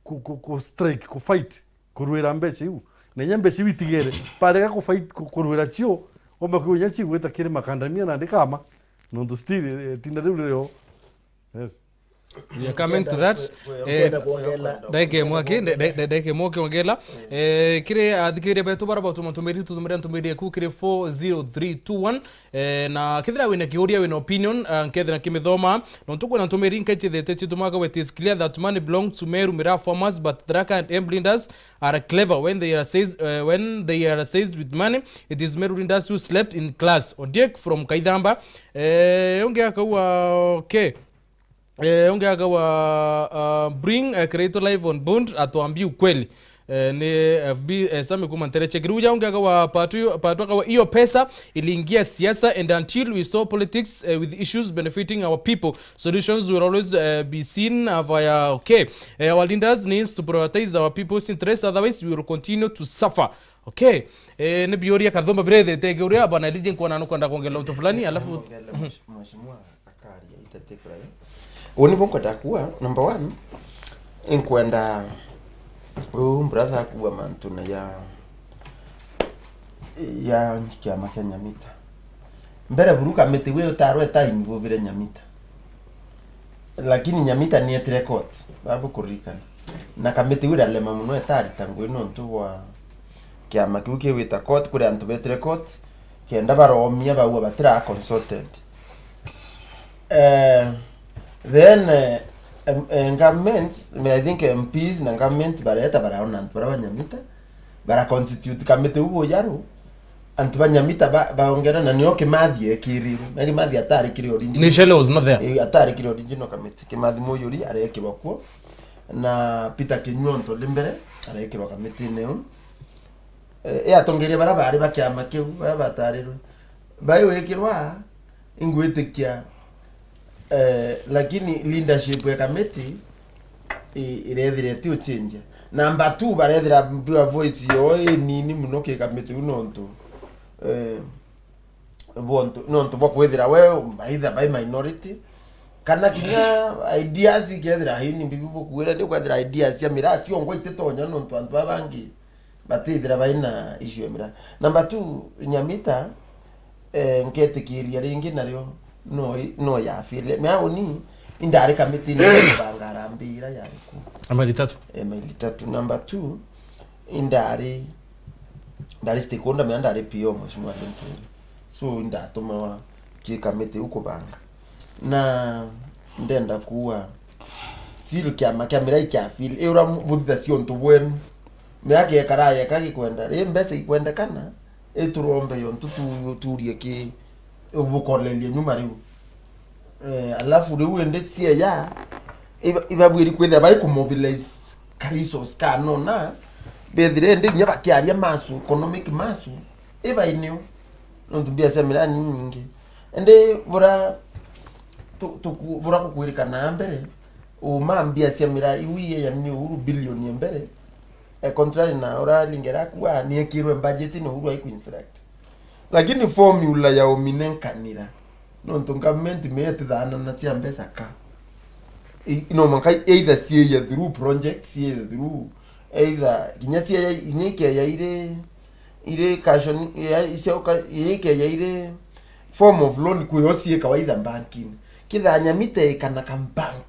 ku, ku, ku strike, ku fight, kurwira mbeca iu. Na inya mbeca iu itigere, barega ku fight, ku, kurwira cio, omba kwigua inya cigwita kiri makandamia nandi kama, nontu still, eh, tinda riu ririo. Yes. We are coming to that. Eh, ndagika imwe aki, nde-, nde-, nde-, ndagika imwe ukiongela. Eh, kiri athikiria betu bara batuma ntumiri, tutumire ntumiri eku kiri four zero three two one. Eh, na kethira wina kiuria, wina opinion, ah, nkethira kimithoma. Nontu kwina ntumiri nkechithete citumaga, it is clear that money belongs to Meru Miraa farmers, but Tharaka and Embu leaders are clever when they are seized, eh, when they are seized with money. It is Meru leaders who slept in class. Odiek from Kaithamba. Eh, ungi akaua, okay. Eh, ungi akaua, ah, bring, eh, Creator live on bond, atuambie ukweli. Eh, ni F B, eh, Sami kuma Ntereche. Kiruja ungi akaua Patu, Patu akaua, hiyo pesa iliingia siasa, and until we stop politics, eh, with issues benefiting our people, solutions will always, eh, be seen, uh, via, okay. Eh, our leaders needs to prioritize our people's interests, otherwise we will continue to suffer. Okay. Eh, ni biuria kathumba birethete kiuria, bwana D J, nkuona nukwenda kuongerera untu fulani, alafu Kuongerera mheshimiwa. Akaria itatekura yo. Uu nibu nkwenda kuuga, number one, inkwenda uu brother akuuga mantune ya, ya kiama kia Nyamita. Mbere buru kamiti wi utarwe ta involvire Nyamita. Lakini Nyamita nietire court, babu kuririkana. Na kamiti wi irarema muno itarita ngui nontu bwa kiama kiu kiwita court, kuri antu betire court, kenda baromia baua batira consulted. Eh, then, eh, em-, eh, government, I think M Ps na government bareta baraona antu bara ba Nyamita, bara constitute kamiti u bujaru, antu ba Nyamita ba, baongera na nio Kimathi ekirirwe. Na Kimathi atari kiri original. Initially was not there. Eh, atari kiri original committee. Kimathi Muyuri arekirwa kuo. Na Peter Kinyua ontu ndi mbere, arekirwa kamitine iu. Eh, e atongeria bara bari ba kiama kiu, bara batarirwe. Bai wikirwa, ingwitikia, eh, lakini leadership ya kamiti i-, irethira iti uchenjia. Number two, barethira pure voice yo inini muno ki kamiti u nontu, eh, bontu, nontu bwa kwithira we either by minority, Kana kinya ideas ikethira hini mbibi bukuire, ni kwethira ideas cia miraa ciongwa ititonya nontu antu aba bangi batithira bai na issue ya miraa. Number two, Nyamita, eh, nketikiria ringi nario no, no ya failure. Miraa uni indari kamitini ya kubanga harambee ira yari ku. Maili tatu. Eh, maili tatu. Number two, indari, ndari stakeholder, miraa ndari P O, Mheshimiwa Linturi. So, indatumawa ki kamiti u kubanga. Na ndenda kuuga, still kiama kia miraa ikia feel, i uria mu-, buthithagia untu bwenu. Miraa kiekara yeka gikwenda, ri mbeca ikwendekana, iturombe yo ntu tu-, turie ki, bukorerie nyuma riu. Eh, alafu riu indi C I A, iba-, ibabwiri kwithira bari kumobilize ka resource kanona, bethire indi inya bakiaria masu, economic masu, ibainio. Nontu mbia cia miraa ni nyingi. Indi bura tu-, tuku-, bura kukwirikana mbere, uma mbia cia miraa iu iye yani ni Uhuru billion ya mbere, eh, contrary na ura Lingera akua, niekirwe budget ni Uhuru aiku instruct. Lakini formula ya uminenkanira, nontu government metithanana cia mbeca ka. I-, no mwanka either ciiye through project, ciiye through, either kinya ciiye, inya ikeya iri, iri caution, ya, icio ka-, inya ikeya iri form of loan, kwio ciikawa either banking. Kithanya mite ikana ka bank.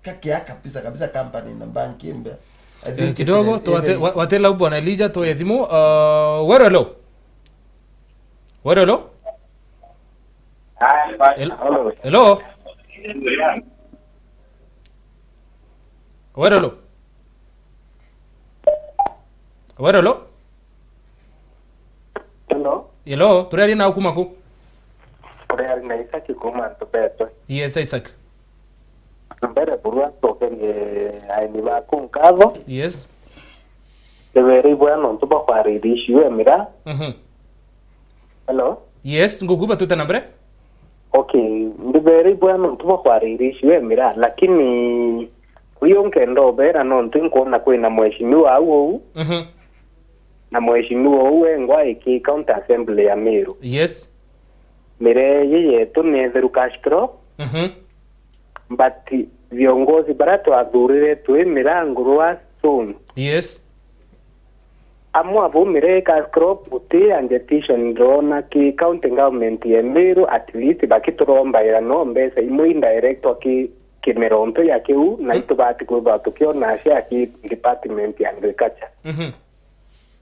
Kakea kabisa kabisa company na bank imbe. I Eh, think kidogo, it, tuwate-, it wa-, watela u bwana Elijah, tuwe thimu. Uh, Wero, hello. Wero, hello. Hel-, hello. Wero, hello. Wero, hello. Hello. Hello, turiaria nau kuma ku? Uriaria na Isaac kuma Ntubetwe. Yes, Isaac. Mbere burua ncokerie aini baku nkatho. Yes. Ndibere ibwea nontu bwa kwariria issue ya miraa. Mhm. Hello? Yes, ngukuba tute na mbere. Okay, ndibere ibwea nontu bwa kwariria issue ya miraa, lakini uyu nkenda ubera nontu nkuona kwina mheshimiwa au uu. Mhm. Na mheshimiwa uu wengwa iki county assembly ya Meru. Yes. Miraa iji yetu ni itheru cash crop. Mhm. But viongozi baria twathurire twi miraa ngurwa soon. Yes. Amwe abo miraa cash crop guti agitation ndona ki county government ya Meru, at least bakiturombaira no mbeca imwe indirectwa ki kimironto ya kiu, na Mm. itubati kwithwa tukiona cia ki department ya agriculture. Mhm.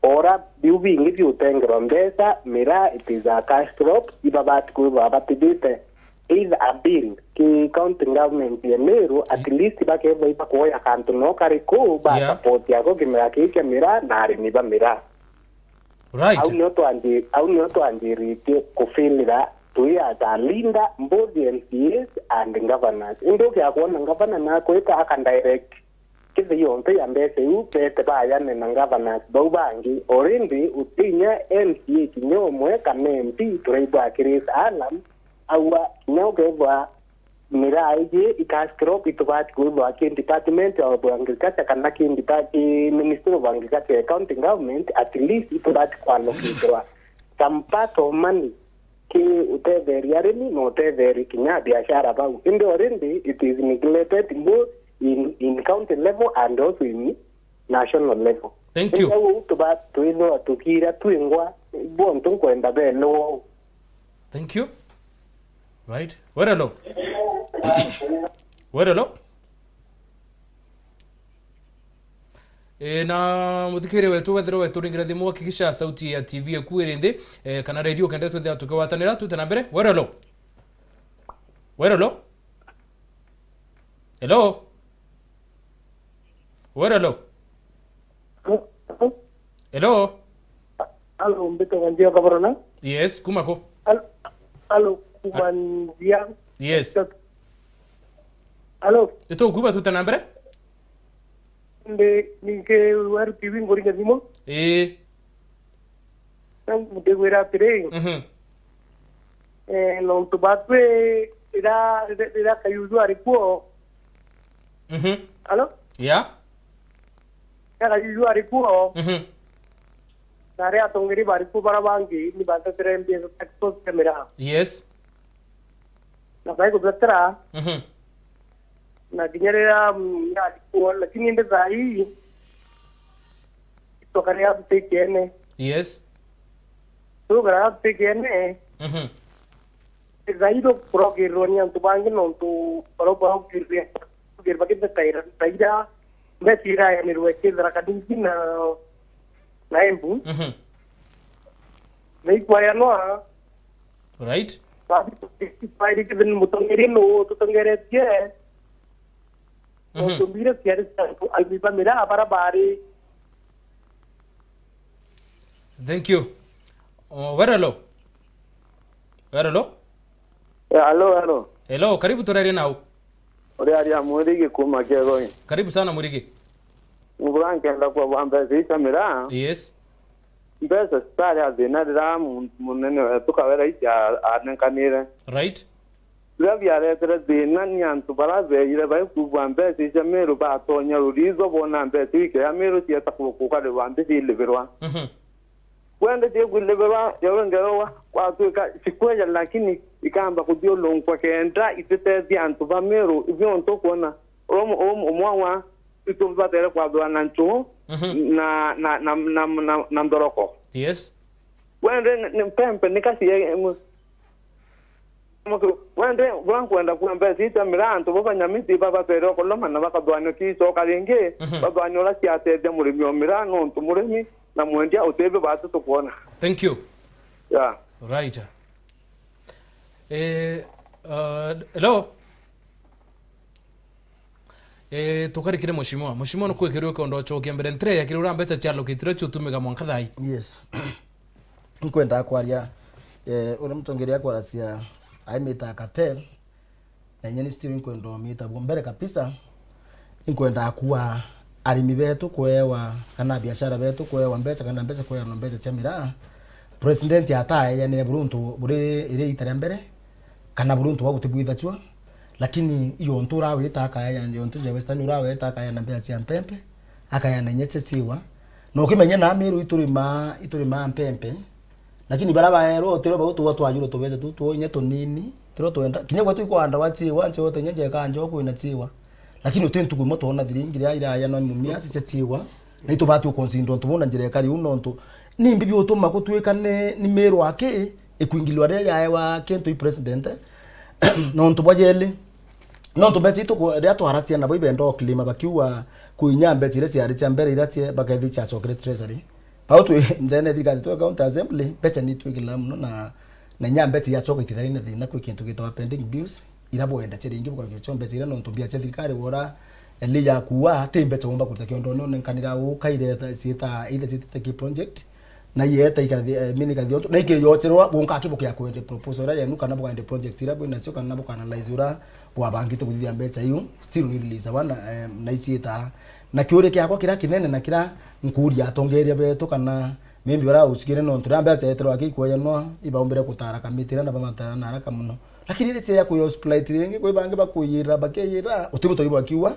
Ora biu bingi biutengerwa mbeca, miraa it is a cash crop, ibabati kwithwa batithite either a bill ki county government ya Meru, at least bakethwa ibakuoya kantu no kari kuu, ba Yeah. support yako kimera kii kia miraa na arimi ba miraa. Right. Au nio twanji-, au nio twanjiritie kufilira twi as a leader, both M C As and governors. Indi ukia kwona governor nakwita aka direct kithi yonthe ya mbeca iu bete bayane na governors bau bangi. Already utinya M C A kinya umwe kana M P turaigua akiraise alarm, aua kinya ukethwa miraa iji i cash crop itubati kwithwa ki department of agriculture kana ki depa-, ki ministry of agriculture ya county government, at least itubati kwallocaterwa some part of money ki utetheria arimi na utetheria kinya biashara bau. Indi already it is neglected both in, in county level and also in national level. Thank you. Indi au tuba-, twithwa tukira twingwa, bontu nkwenda belewa. Thank you. Right. Wero, hello. Wero, hello. E, na muthikiria wetu, wethire weturingira thimu, hakikisha sauti ya T V eku iri nthi, e, kana radio kenda twithira tukigwatanira, tute na mbere. Wero, hello. Wero, hello. Hello? Wero, hello? Hello? Hello, mbitagwa Nzia Kaborona. Yes, kuma ku? Al-, hello, kuma Nzia. Yes. Hello? Itukuigua tute na mbere? Ndi, ninki Weru T V nguringa thimu? Ii. Ndigwira atiri, Mhm. eh, nontu batwi rira, rira, rira Kayuju ari kuo. Mhm. Alo? Yeah. Rira Kayuju ari kuo. Mhm. Na aria atongeri bari kuo bara bangi ni batetire mbia cia taxes cia miraa. Yes. Na baiguthetera, Mhm. Na kinya riria, mm, ndari kuona, lakini indi thaa ii, itokarea tutikene. Yes. Tukara tutikene. Mhm. Thaa ii tukurogererwa ni antu bangi nontu baria barogererwa bakithetaira thaa iria mbeca irayanirwe kithira kanini na, na Embu. Mhm. Na ikwayanwa. Right. Bathi, bathi, bathi, mutongeria nu tutongeretie. Mhm. Utumbire ciari cia antu, arimi ba miraa bara bari. Thank you. Oh, Werelo. Werelo? Yeah, hello, hello. Hello, karibu turarie nau. Uri aria Mwirigi kuma Kiegoi. Karibu sana Mwirigi. Ngura nkenda kwa bwa mbeca icia miraa. Yes. Mbeca citari a thina riria muntu munene wetu Kawira ici a-, anenkanire. Right. Biria biaretere thina ni antu baria beeyire baikuigua mbeca icia Meru batonya ruritho boona mbeca iu ikea Meru cieta ku-, kukarirwa nthi cilibirwa. Mhm. Kwende cikwilibirwa, yawe ngerowa kwatwika cikweja, lakini ikamba kuthiulunkwa kenda ititethia antu ba Meru. Ibio ntu kwona uria umu-, umu-, umwe wa itu batere kwathurana nchu Mhm. na, na, na, na, na, na nthoroko. Yes. Wende ni, ni mpempe, ni kasi ya, em, wende, bura nkwenda kuga mbeca itamira antu bo banyamiti babatere okoloma na bakathwanio kiicoka ringi, Mhm. bathwanio uria ciatethia murimi o miraa, nontu murimi na mwendia utibio batu tukwona. Thank you. Yeah. Right. Eh, uh, hello? Eh, tukarikire mheshimiwa. Mheshimiwa, nukwikirwe ukionda ucokia mbere. Ntire ya kiri uria mbeca cialokitire ciutumiga mwanka thai. Yes. Nkwendaa kwaria, eh, uria mutongeria akwaracia aimita cartel, na inya ni still nkwenda umita bwa mbere kabisa. Inkwenda kuwa arimi betu kwewa, kana biashara betu kwewa mbeca, kana mbeca kweanwa mbeca cia miraa. President ataeyanire buri untu buri iri ita ria mbere, kana buri untu bwa gutibwithacua. Lakini iyo untu urawita akaeana, iyo untu ja Western urawita akaeana mbeca cia mpempe, akaeana inya cia ciwa. Na ukimenya na Meru iturimaa, iturimaa mpempe, lakini bara baerwa utiro bau tuwa twajuru tubece tu, tu inya tunini, tiro twenda. Kinya gwetu ikwanda wa ciwa, ncio uta inya jeka njo kwina ciwa. Lakini uti ntuku imwe twona thiringi ria iraya no mumia cia ciwa. Na itubati ukonsindo ntu bona njira ikari u nontu. Ni mbibi utuma gutwika ni, ni Meru aki, ikwingilwa ria yaewa kintu i president. Nontu bwa jeli. Nontu mbeca itu ku-, ria twaracia nabo ibenda uklima bakiuga kuinya mbeca iria ciari cia mbere iria cie-, bakethi ciacokere treasury. Bau twi ndene thirikari twe county assembly, mbeca ni twikila muno na, na inya mbeca iacoka itithari na thina kwi kintu gitawa pending bills, ira bwenda cia ringi bukagia cio mbeca iria nontu mbia cia thirikari wora eli ya kuwa, ti mbeca womba kuruta kiondo none nkanira ukaire ta, ciita, either ciitite ki project, na ieta ikathi, eh, mini ikathi ontu, na ikiyocherwa, gunka akibukia kwende proposal iria yenu, kana bwende project iria bwinacio, kana buka analyze uria bwabangite kuthithia mbeca iu, still ni release wana, eh, na iciita. Na kiuria kiakwa kiria kinene na kiria nkuria atongeria betu, kana maybe bara ucikire nontu ria mbeca eterwa akikweyanwa, ibaumbire kutara kamiti iria na bamatara na haraka muno. Lakini iria cia kuya hospitality ringi, kwi bangi bakuyira, bakeyira, utibu turi bakiuga,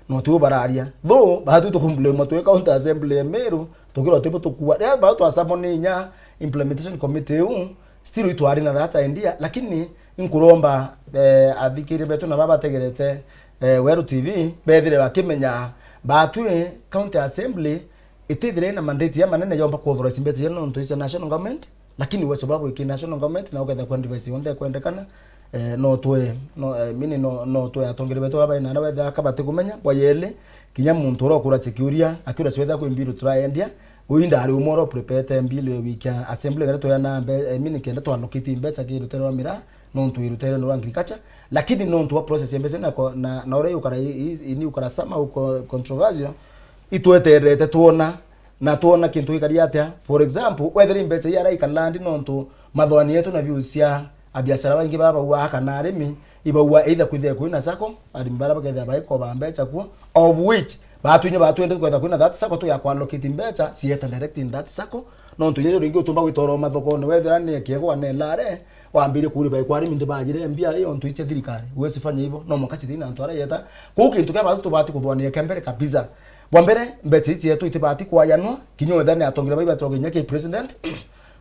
na utibu bararia. Though, batu tukumblame twi county assembly ya Meru, tukirwa tibu tukua. Ria bau twasamoni inya implementation committee iu, still itwari na that idea, lakini inkuromba, eh, athikiria betu na baba bategerete, eh, Weru T V, bethire bakimenya batwi county assembly itithire na mandate ya manene yomba ku authorize mbeca cia nontu cia national government, lakini uwezo bwa gwiki national government na uketha kwa advice yonthe kwendekana, eh, no twe, no, eh, mini no, no twe atongeria betu baba ina na wetha akabati kumenya, bwa yeli, kinya muntu uria ukura chikiuria, akiura chwetha kwi mbiru turaendia, uyu ndari umwe uria uprepete mbiru ya wiki ya assembly gare twa na mbe, eh, mini kenda twa allocate mbeca ki rutere rwa miraa, nontu irutere rwa agriculture, lakini nontu wa process ya mbeca na ko-, na, na uria yukara i, i, ini ukara sama uko controversial, itweterete twona, na twona kintu gikari atia. For example, wethira mbeca iria araika land nontu mathwani yetu na views cia abiashara baingi baba baua kana arimi, ibaua either kwithira kwina sacco, arimi bara bakethira baikoba mbeca kuo, of which batwinye batwende kwetha kwina that sacco tu ya kuallocate mbeca, cieta direct in that sacco, nontu yeyo ringi utumba gwitoro mathokone, wethira ni kiegwa ne lare, wambire kuri bai kwari mindi bajire mbia iyo ntu iche thirikari. Uwezi fanya hivyo, no mukachithina antu ara yeta. Kuu kintu kia batu tubati kuthwania kia mbere kabisa. Bwa mbere, mbeca ici yetu itibati kwayanwa, kinya wethira ni atongeria bai batoginya ki president.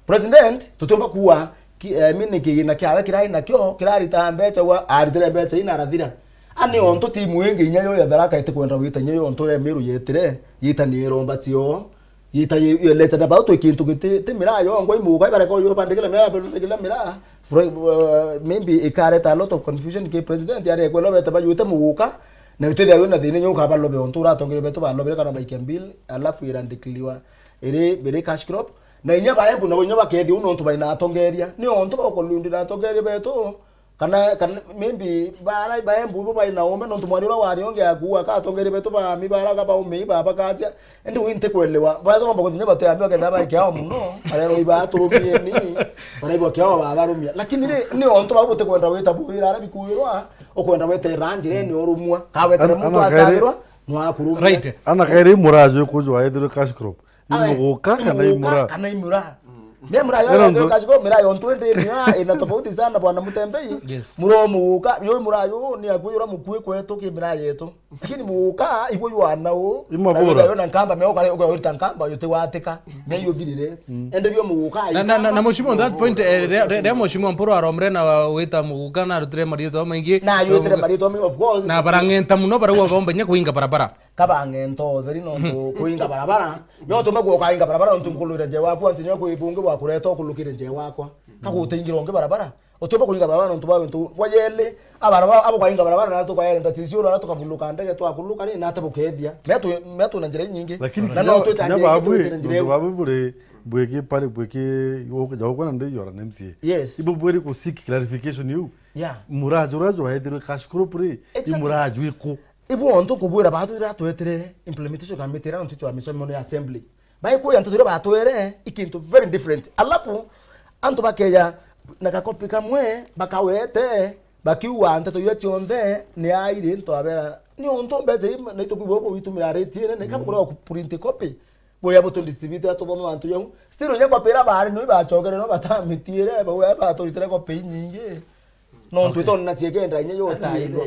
President, tutiumba kuwa ki, eh, mini kigina kiawe kirai nakio, kirarita mbeca wa, aritire mbeca ina arathira. Ani ontu timu ingi inya yo ya Tharaka itikwenda wita inya yo ontu ya Meru yetire, yita ni iromba cio, yita ye, ye lecha na bau twi kintu giti, ti miraa yongwa imuka, ibareka yo bandikira miraa, bandikira miraa. Fro-, uh, maybe ikareta a lot of confusion ki president, ari ekwela bete bayute muguka, na itwithia wina thina nyo ukabalobe ontu uratongeria betu balobere kana baikia bill, alafu irandikiliwa iri, iri cash crop. Na inya baembu nabo inya bakethia u nontu baina atongeria. Ni ontu bakulundira atongeria betu, kana, kana maybe bara baembu bo baina ume nontu mwari ura wari onge akuua ka atongeria betu bami bara ka baume iba bakacia. Indi wi ntikwelewa. Baza bamba kuthi inya bate ami bakenda baikia ao muno. Barero iba aturumieni. Baraigua kiao babarumia. Lakini ni, ni ontu bau butikwenda wita bwira ara bikuirwa, ukwenda weta iranjire ni urumwa. Kawetere Ana, muntu ana kairi acagirwa, nwakurumia. Right. Ana kairi muraju ikujwa ethirwe cash crop. Aye, imuguka kana imuguka imura? Kana imura? Me mura yo Ero ya ndo- cash crop, mira yo ntwende mia, ina tofauti sana bwana Mutembei. Yes. Mura muguka, yo mura yo ni akuyura mukui kwetu ki mira yetu. Lakini muguka, ibo yo ana u. Imabura. Na yo na nkamba, me ukare, ukaurita nkamba, yo tiwatika. Me yo thirire. Ende bio muguka, Na, na, na, na mheshimiwa, on that point, eh, ria, ria, ria mheshimiwa Mpuru aromre na wita muguka na arutire marietwa maingi. Na yo tire marietwa maingi, of course. Na barang'enta muno, barauga baumba inya kuinga barabara. Kabang'enta utheri nontu kuinga barabara. Nyo tume kuoka inga barabara nontu nkulukire nje wakwa, nti nyo kwi bungi bwa kureta ukulukire nje wakwa. Kagutaingira ungi barabara. Utume kuinga barabara nontu bwa untu bwa yeli. Abara ba, abo kwainga barabara na tukaenda sisi ura tukabuluka ndege twakuluka ni na tabukethia. Metu, metu na njira nyingi. Lakini Na kinya, no twita kinya njira babu, ingĩ, twite njira nontu ingĩ. Babu buri, bwiki pari, bwiki, jaukwa na ndi yora na M C A. Yes. Ibo bwiri ku seek clarification you. Yeah. Muraju, raju waethirwe cash crop ri, Exactly. Imuraju iku. Ibu ontu nkubwira batu rira twetire implementation committee rira ntu twa misomo ni assembly. Baikuya nteto iria batwere, i kintu very different. Alafu, antu bakeja na gakopi kamwe, bakawete, bakiuga nteto iria cionthe ni airi ntu abera. Ni ontu mbeca ii na itukwigua bo witumira rate inene, kabukurwa ku print copy. Buya butu distribute tuthome bantu jau. Still, nya kopi iria bari no ibacokere no batamitiire, bau baturitire kopi inyingi. No Okay. Twitona ciekenda inya yo tairwa.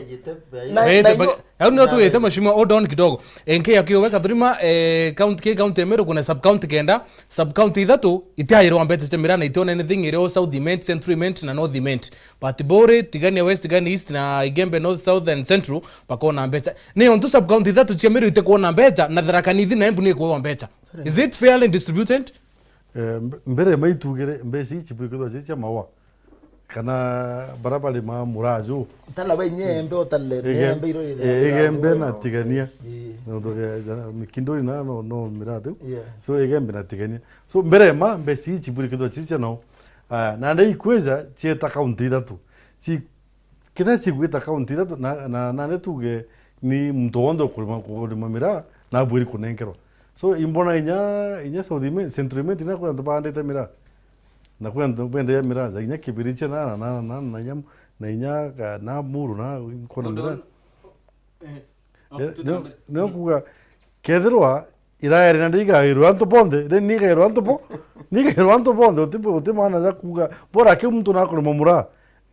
Na, Wete, na bag-, inyo- au nio tuwite mheshimiwa, hold on kidogo. Enke ya kiuwe Kathurima, eh, county, ki county ya Meru kuna sub county kenda, sub county ithatu itiairwa mbeca cia miraa na itiona anything, irio South Imenti, Central Imenti na North Imenti. But Buri, Tigania West, Tigania East na Igembe North, South and Central bakona mbeca. Ni ontu sub county ithatu cia Meru itikuona mbeca na Tharaka Nithi na Embu ni ikuwa mbeca. Is it fairly distributed? Eh, mb-, mbere maitugire mbeca ici bwikithwa cia mawa. Kana bara bari ma muraju. Tala ba inyembe, utale Ege-, inyembe iro ire eh, igembe na tigania. Ii. Nontu ge-, ja-, mikindori na no, no miratu. Yeah. So, igembe na tigania. So, mbere ma mbeca ici bwikithwa ci cia no. Ah, na nde ikwija cieta kaunti ithatu. Ci-, kiria cigwita kaunti ithatu na, na, na nde tuge ni muntu wonthe ukurima, ukurima miraa, na abwiri kunenkerwa. So, imbona inya, inya South Imenti, Central Imenti, na kwi antu baandite miraa. Na kwi antu bendagia miraa, ja inya Kibiriche na, na, na, na, na inya, na inya, ka, na Muru, na nkona Hold miraa. On. Eh, Eh, okay, nio, tutambire. Nio kuga, kethirwa iraere na ndigairwa antu bonthe, then nigairwa antu bo, nigairwa antu bonthe, uti, uti maana ja kuga, bora ki muntu nakurima muraa.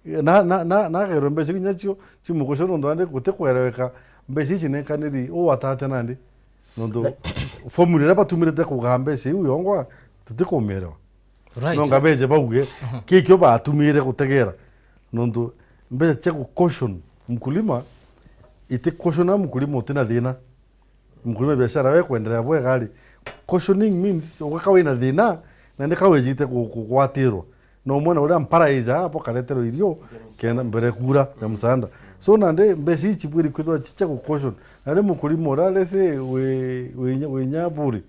Na, na, na, nagairwa mbeca inya cio, cimukucio nontu nandi guti kwereweka mbeca ici nenkaniri, u atate nandi. Nontu formula iria batumirite kugaa mbeca iu yongwa, tutikumielewa. Right. No ngabeje bauge, aha, kikio batumire gutegera. Nontu mbeca cia gu caution mkulima, iti caution a mkulima utina thina. Mkulima biashara we kwendelea bwega ri. Cautioning means ugaka wina thina, na ni kawijite ku-, kugwatirwa. No mwana uria mpara ija hapo kareterwa irio, kenda mbere kura ya msaada. So nandi mbeca ici bwiri kwithwa ci cia gu caution. Nandi mkulima uria lese wi, wi, wi nyaburi,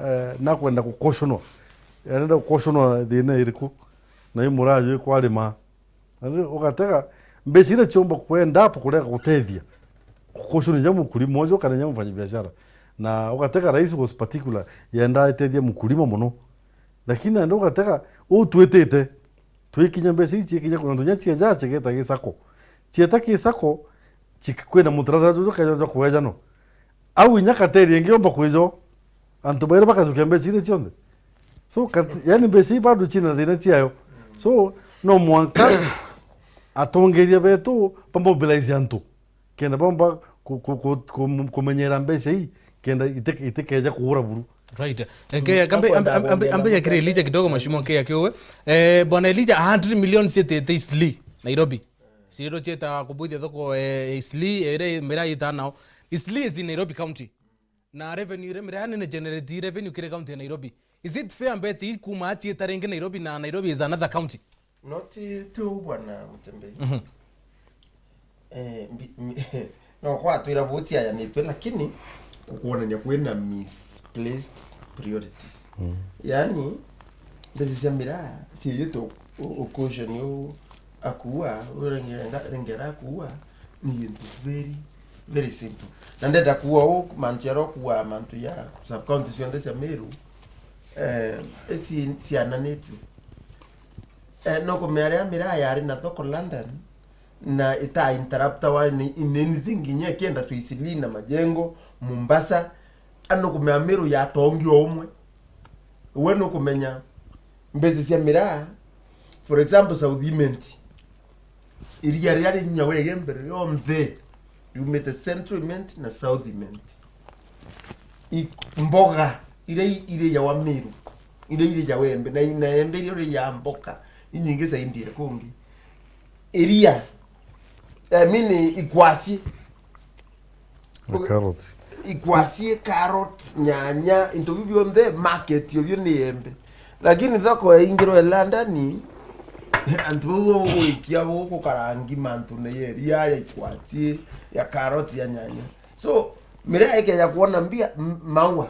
eh, nakwenda gu cautionwa. Arenda gu cautionwa thina iriku? Na i muraju ikwarima. Na riu ugatega mbeca iria ciumba kwenda hapo kurega gutethia, kucaution ja mkulima ucio kana ja mfanyabiashara. Na ugatega rais was particular, yenda etethia mkulima muno. Lakini nandi ugatega, u twitite, twikinya mbeca ici cikinya kuna ndunya cieja cigeta gisako. Cieta gisako, cik-, kwina mutaratara juju keja jwa kwejanwa. Au inya kateri ingi yomba kwijo, antu bairi bakajukia mbeca iria cionthe. So, kat-, yani mbeca ii bado cina thina ciayo. So, no mwanka atongeria betu bamobilize antu. Kenda bomba ku-, ku-, ku-, ku-, kumenyera mbeca ii, kenda ite-, itikeja kugura buru. Right. Eh, ke-, kambe, ambe, ambe, ambe, ambe ya kire Elijah kidogo, mheshimiwa, ke ya kiuwe. Eh, bwana Elijah, a hundred million cietete Eastleigh, Nairobi. Ciriro cieta kubuithia thoko, eh, Eastleigh, ere miraa ita nao. Eastleigh is in Nairobi County. Na revenue ire miraa nene generate revenue kiri county ya Nairobi. Is it fair mbete ii kuma acieta ringi Nairobi na Nairobi is another county? Not tu, bwana Mutembei. Mhm. Eh, mbi-, mi-, no kwatwira buciayanitwe, lakini kukwonania kwina misplaced priorities. Mm. Yani, mbeca cia miraa ciiyitwe u-, u-, caution u-, akua, urengera, rengera akua, ni gintu very, very simple. Na ndenda kuua u, mantu jaria ukua, mantu ja sub-county cionthe cia Meru, eh, eci ciananitue. Eh, no kumea riria miraa yari na thoko London, na ita interruptawa in, in anything, nginya ikienda Swiss Lee na majengo, Mombasa, ano kumea Meru yatongi o umwe. We nukumenya mbeca cia miraa, for example, South Imenti, iria riria ri nyawa ige mbere rionthe riumite Central Imenti na South Imenti. I-, mboga iria i-, irijawa Meru, iria irijawa Embe, na, na Embe iria irijawa mboga inyingi zaidi ya kungi. Iria, I mean, ikwasi. Na carrot. Ikwasi, carrot, nyanya, into biu bionthe, market yo bio ni Embe. Lakini thoko yaingirwe London, antu bau bo gwikia bo gukarangi mantu na ya iria, ya ikwasi, ya carrot, ya nyanya. So, miraa ikeja kwona mbia, m-, maua.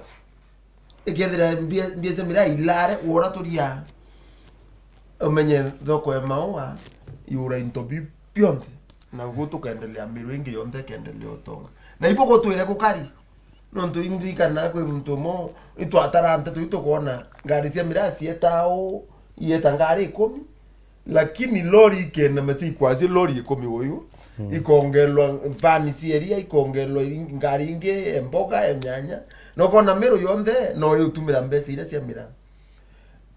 Ikethira mbia, mbia cia miraa ilare, ura turia, umenye thoko ya maua, iura into biu bionthe. Na guo tukendelea, Meru ingi yonthe ikendelea utonga. Na ibo gutwire gukari. Nontu indirikana kwi muntu umwe, itwatara nteto iu tukwona ngari cia miraa cieta uu, ieta ngari ikumi. Lakini lori ikenema cia ikwasi, lori ikumi uyu, mm, ikongerwa vani cia iria, ikongerwa ing-, ngari ingi, e mboga, e nyanya. Na ukona Meru yonthe no iutumira mbeca iria cia miraa.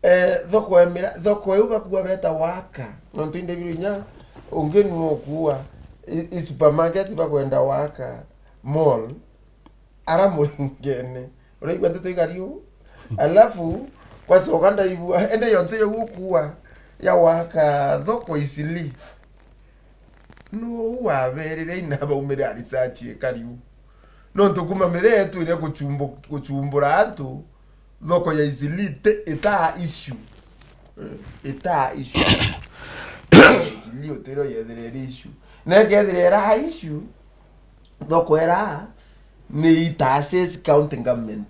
Eh, thoko ya miraa, thoko iu bakua beta waka. Nontu inde biru inya, ungi ni ukua, i, i supermarket bakwenda waka, mall. Ara muringene. Uraigua nteto igari uu? Alafu, kwacoka ndaigua, ende yo ntu ya gukua, ya waka thoko Eastleigh. Nuu waberire ina baumire a research ikari uu? Nontu kuma miraa itwire guchumbu-, guchumbura antu, thoko ya Eastleigh ti, itaa issue. Eh, itaa issue. Eastleigh utire uyethire iri issue. Na ikethira ira issue, thoko iria ni ita assess county government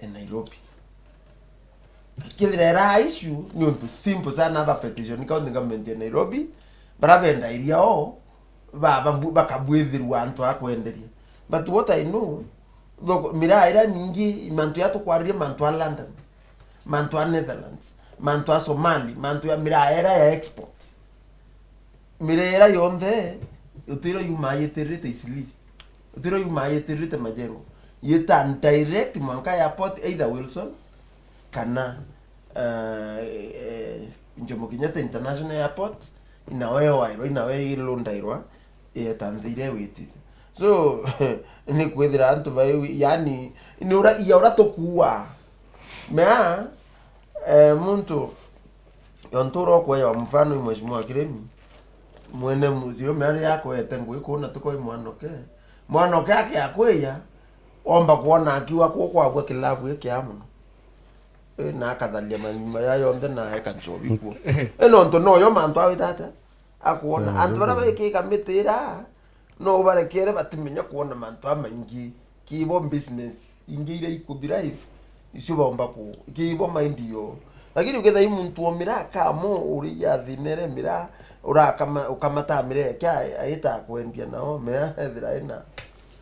ya Nairobi. Kethira ira issue ni untu simple sana, aba petition county government ya Nairobi, bara benda iria o, ba, ba, bakabwithirwa antu a kwenderia. But what I know, thoko, miraa iria mingi, mantu ya tukwaririe, mantu a London, mantu a Netherlands, mantu a Somali, mantu ya miraa iria ya export. Miraa iria yonthe, utiro yumaa yitiririte Eastleigh. Utiro yumaa yitiririte majengo. Yita direct mwanka airport, either Wilson, kana, eh, eh, Jomo Kenyatta International Airport, inawe wairwa, inawe ilundairwa, yeta nthi iria witite. So, ni kwithira antu bai, yani, ni ura, ya ura tukua. Mea, eh, muntu, yo ntura ukweja wa mfano i Mheshimiwa Kiremi, mwene mucii ume aria akwete ngui kuu na tukoi mwanoke. Mwanoke ake akwiya, omba kwona akiuga kuu kwagua kilabu gikia muno. Eh, na akatharia manyuma ya yonthe na eka nchobi kuo. Eh, nontu noyo mantu awita atia? Akuona. Mm, antu baria baikika miti ira, no ubarekere batimenya kwona mantu jamaingi. Kibo business ingi iria ikuthrive, icio baumba ku, kibo mind yo. Lakini ukethira i muntu o miraa kamo, uri ya thina iria miraa, urakama-, ukamata miraa yake, a-, aita kwendia nao, miraa ethira ina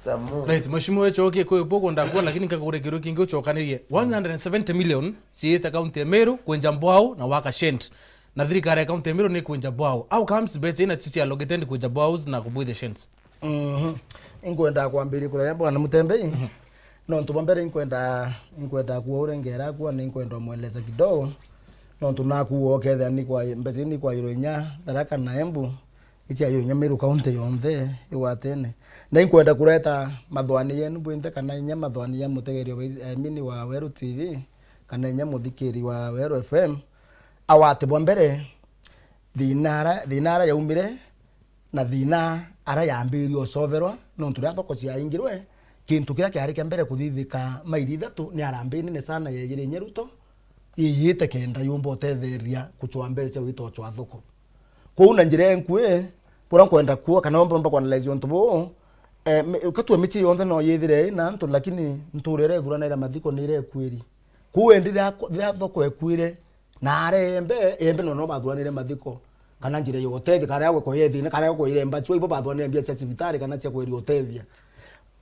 some more. Right, Mheshimiwa wechokie kwi buku ndakuona, lakini nkagure kiru kingi uchokanirie. One hundred and seventy million ciita county ya Meru kwenja mbwau na waka shent. Na thirikari ya county ya Meru ni kwenja bwao. How comes mbeca ina cicia allocated kwenja bwaos na kubwithia shents? Mhm. Inkwenda kwambiria kuraya bwana Mutembei. Mhm. Nontu bwa mbere inkwenda, inkwenda kuwa urengera kuwa, na inkwenda umweleza kidogo. Nontu nakuwa ukethia ni kwa, mbeca ni kwa yuro inya, Tharaka na Embu, icia yuro inya Meru county yonthe igwatene. Na inkwenda kureta mathwani yenu bwinthe, kana inya mathwani ya mutegeria wa, I mean, wa Weru T V, kana inya muthikiri wa Weru F M. Awati bwa mbere, thina ara, thina ara yaumire, Na thina ara yambirie ucoverwa, nontu riria thoko ciaingirwe, kintu kiria kiari kia mbere kuthithika maili ithatu ni harambee nene sana yejire inya Ruto, yiyite kenda yumba utetheria kucwa mbeca cia gwita ucwa thoko. Kwou na njira enkui, buria nkwenda kuo, kana umba kuanalyze untu buu, eh, mi-, ukatue mici yonthe no yithire ina antu, lakini nturire ithuranaira mathiko ni iria ikuiri. Kwou endi riria, riria thoko ekuire, na aria embe, embe no, no bathuranire mathiko. Kana njira ya utethia, kana ya gukwa yethina, kana ya gukwa iremba, chwa ibo bathuranire mbia cia cibitari, kana cia kweria utethia.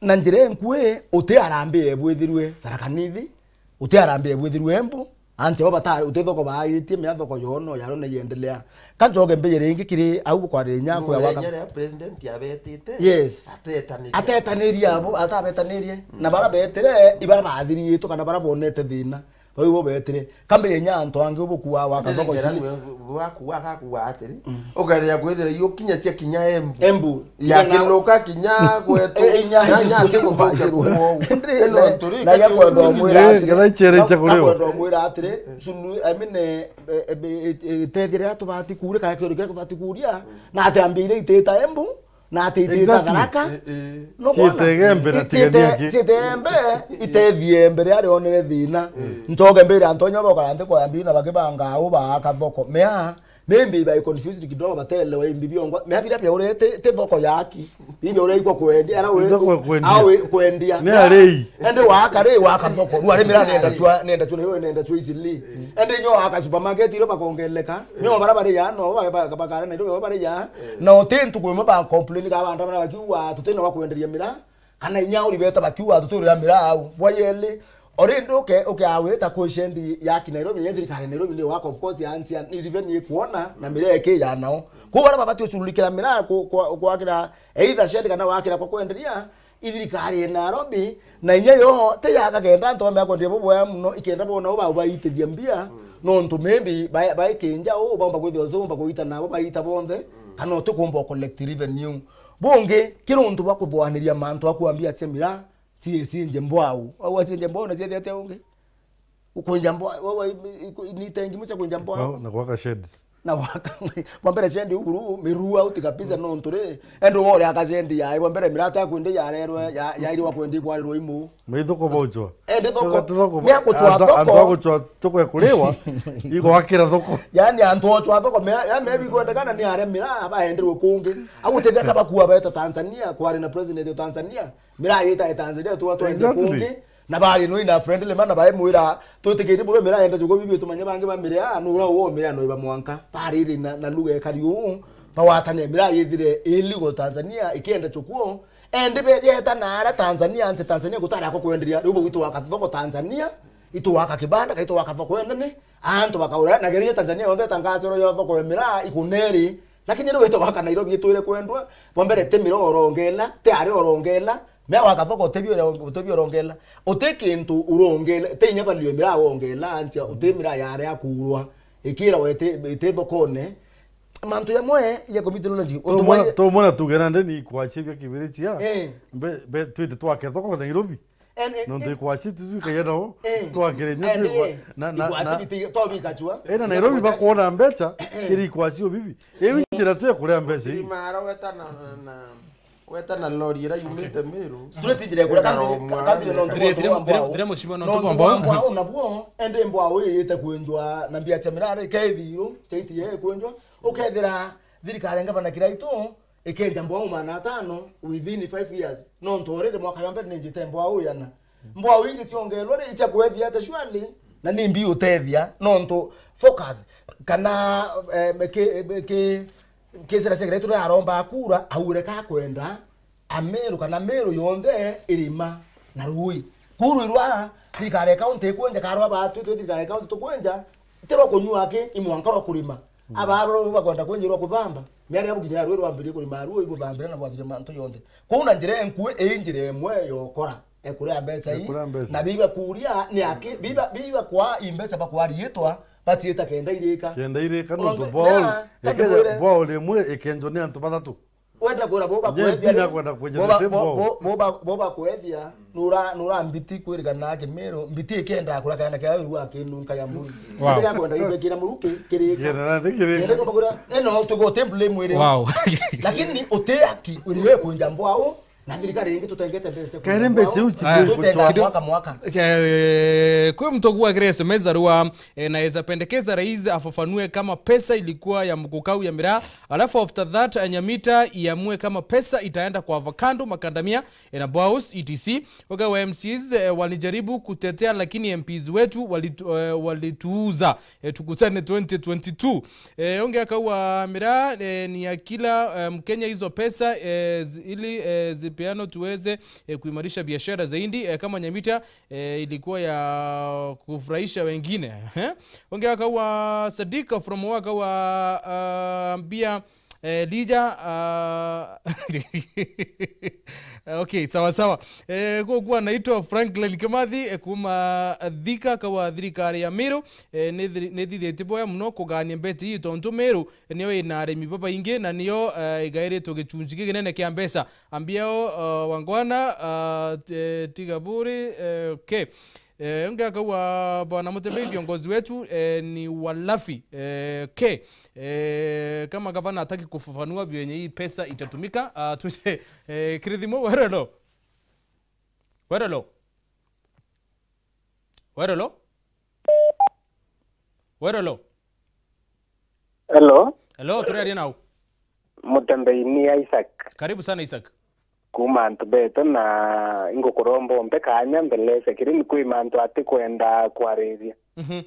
Na njira enkui, uti harambee ebwithirwe Tharaka Nithi, uti harambee ebwithirwe Embu, anche bo bata, uti thoko baagitie, mea thoko yono, yaro na yendelea. Ka njoke mbije ringi kiri au bukwariria nyako ya waka. Nya ria president abetite, yes, atetaniria. Atetaniria abo, atabetanirie. Na bara betire, ibara bathiriitwe kana bara bonete thina. Bau ibo betire. Kambe nya antu angi ubukua waka thoko ici. Bwakua, akakua atiri. Ukethira kwithira iukinya cia kinya Embu. Embu. Ya kinuka kinya kwetu. Eh, inya nya, nya ati guthukia kuo. Indi ino na, nturi na ya kwenda umwira atiri, ngetha ichere icha kuriwa. Kwenda umwira atiri, sulu, I mean, eh, eh, eh, eh, tethire tubati kuria, kana kioro kiria tubati kuria, na ati ambire itita Embu, na ati itita Tharaka. No ciite kuona? Ciite Embe na tigania ki? Ciite Embe, itethie Embe riria rionere thina. Njoke mbire antu nyobo kara nthi kwa mbi na bakibanga au baaka thoko. Mea, maybe bai confused kidogo, batelewa imbi biongwa. Mea biria biaurete, ti thoko yaki. Bibi uria ikwa kwendia, ara we, thoko ya kwendia. Awe kwendia. Ni arei. Ende waka ri, waka thoko. Rua ri mira nenda chwa, nenda chwa, nenda chwa isili. Ende nyo aka supermarket iro bakongeleka. Nyo bara bari ya, no, ba-, ba-, bakara na iro bara ya. Na uti ntuku imwe ba complain ka bantu bana bakiuga, tutina wa kwenderia mira. Kana inya uri beta bakiuga, tuturia mira au. Bwa yeli, ori nduke, uke awita ku shendi ya ki Nairobi, ya thirikari ya Nairobi ni waka, of course, ya nsia, ni revenue ikuona, na mira eke ya nao. Ku bara babati ucurulikira mira ku-, kwa-, kwakira either shendi kana wakira kwa kwenderia, i thirikari ya Nairobi, na inya yo, te yaka kenda antu bamea kwenderia bubwea muno, ikenda bona uba ubaitithia mbia, nontu maybe ba-, baikinja u, baumba kwithirwa tumba kuita nabo, baita bonthe, kana utikumba collect revenue. Bungi, kiri untu bwa kuthuaniria mantu a kuambia cia mira, ci-, cinje mbwau. Au acinje mbwau na ciethia atia ungi? Ukwinja mbwau, wa, wa, iku-, ni tengi mucha kwinja mbwau. Na, na gwaka sheds. Na waka, bwa mbere shendi uguru, miru out kabisa, nontu ri, ende wore aka shendi ya, bwa mbere mirata ya kwende ya rerwe, ya, ya iri wa kwende kwarirwa imu. Maitho ko bochwa. Ende thoko. Thoko, thoko. Ni akuchwa antu, antu thoko. Akuchwa thoko ya kuriwa, igwakira thoko. Yani antu ochwa thoko, me, ya maybe kwendekana ni aria mira, baenderwe kungi. Agutethia ka bakua beta Tanzania, kwari na president wa Tanzania. Mira yita ya Tanzania, tuwa twende kungi. Exactly. Na bari no ina friendly man, na bae mwira, twitikiri bube mira yenda jugo bibi tumanye bangi ba mira, no ura wo mira no iba mwanka. Bari ri na, na lugha ekari uu, bawatane mira yithire illegal Tanzania, ikienda chukuo. Endi be yeta na ara Tanzania, anse Tanzania gutara ko kwenderia, riu bugwitwa waka thoko Tanzania, itu waka kibanda, kaitu waka thoko enene, antu bakaura, na geria Tanzania yonthe tangazo yo thoko ya mira ikuneri, lakini riu wita waka Nairobi itwire kwendwa, bwa mbere ti mira orongela, ti ari orongela, mea waka thoko utebio, utebio orongela, uti kintu urongela, ti inya value mira wongela, ansia uti mira yare akurwa, ikira wete, ite thokone, mantu yamwe ya community knowledge, untu tumona, mwa tumona tugera ndeni kwachibia kibirichia. Eh. Mbe, mbe, twite twake thoko Nairobi. And, and, nontu and, ikwaci tu twikagia nao, eh, twakire nyo and, twikwa-, eh, na, na, ikwaci na biti-, tobika chwa. Eh, na Nairobi bakwona mbecha, eh, kiri ikwaci o bibi. Iu njira tu ya kuria mbecha ii. Mara weta na, na, weta na lori ira yumite Meru. Straight njira ya kuria, kandire, kandire no ntuku wa mbao. Ndire mushima no ntuku wa mbao. Nontu wa mbao nabuo, ende mbao iyite kwenjwa na mbia cia mirare, ke ithiru, chaiti ye kwenjwa. Ukethira thirikari ngavana kiraitu, ikenja mbwau maana atano within five years. Nontu already mwaka ya mbere ninjite mbwau yana. Mbwau ingi ciongelwa ri, icha kwethia ate surely, na ni mbi utethia, nontu focus, kana, eh, ki, ki, ki sera cia Kiraitu ria aromba kura, aure ka kwenda, Ameru kana Meru yonthe irima na rui. Kuru irwa thirikari ya county ikwenja, karwa batu twe thirikari ya county tukwenja, ti rwa kunyua aki, i mwanka rwa kurima. Mm. Aba aba bakwenda kwenja rwa kuthamba. Miari ya bukinya rwe rwambirie kurima ruo, ibuthambira na bwathire mantu yonthe. Kuu na njira enkue, ii njira imwe yokora, ekuria mbecha ii, ekuria mbecha. Na biba kuria ni aki, biba, biba kwa i mbecha bakwa riitwa, baciita kenda irika. Kenda irika, nontu bwao, ekeja bwao rimwe ikenjwa ni antu bathatu. Kwenda kura bo bakwethia. Bo ba-, bo, bo, bo ba-, bo bakwethia, nura, nura mbiti kwirigana na Kimiru, mbiti ikenda kura kana kia ru wa kinunka ya muri. Wow. Ndega kwenda ibekira muruki, kirika. Kenda na kirika. Kenda kwa kura, eno tugo temple mwiri. Wow. Lakini utehaki, uriwe kunja mbwao, na thirikari ingi tutengete mbeca. Kere mbeca uchi. Tutenda mwaka mwaka. Eh, kwi mtu kuwa kire S M S arua, eh, naweza pendekeza rais afafanue kama pesa ilikuwa ya mgukau ya miraa, alafu after that, eh, Nyamita iamue kama pesa itaenda kwa avocado, makandamia, eh, na boaus, et cetera. Oga wa M Cs, eh, walijaribu kutetea, lakini M Ps wetu walitu-, eh, walituuza. Eh, tukutane twenty twenty-two. Eh, onge akauga miraa, eh, ni ya kila, eh, Mkenya, hizo pesa, eh, zi-, ili, eh, zipeano tuweze, eh, kuimarisha biashara zaidi, eh, kama Nyamita, eh, ilikuwa ya kufurahisha wengine. Eh? Onge akauga Sadika from Waka wa, ah, Mbia, eh, Lija, ah, okay, sawa sawa. Eh, gukua naitwa Franklin Kimathi, eh, kuma Thika, kawa thirikari ya Miru, eh, ni thiri-, ni thithitibwe muno kugania mbeti ii tontu Miru niyo ina arimi babaingi na niyo, eh, igairitwe gicunji gikinene kia mbeca. Ambiao, eh, wangwana, eh, t-, tiga buri, eh, okay. Eh, ungi akauga, Bwana Mutembei, viongozi wetu, eh, ni walafi. Eh, okay. Eh, kama gavana hataki kufafanua vyenye hii pesa itatumika, ah, tuje, eh, kirithimo, werelo. Werelo. Werelo. Werelo. Hello. Hello, turiaria nau? Mutembei ni Isaac. Karibu sana, Isaac. Kuma antu betu, na ingukuromba umpe kanya mbeleze kiri ni kwi mantu atikwenda kwariria. Mhm.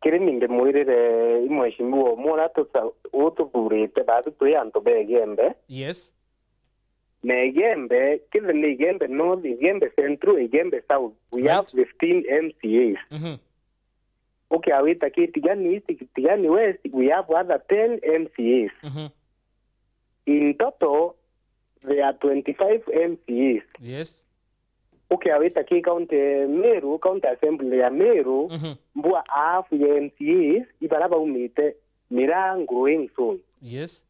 Kiri ni ndimwirire i mheshimiwa umwe uria tuca-, ututhurite, baathu twi antu ba Igembe. Yes. Na Igembe, kithe ni Igembe North, Igembe Central, Igembe South. We Right. have fifteen M C As. Mhm. Ukiawita ki Tigani East, Tigani West, we have other ten M C As. Mhm. In total, there are twenty-five M C As. Yes. Ukiawita ki county Meru, county assembly ya Meru, Mhm. mbua half ya M C As ibara baumite miraa growing zone. Yes.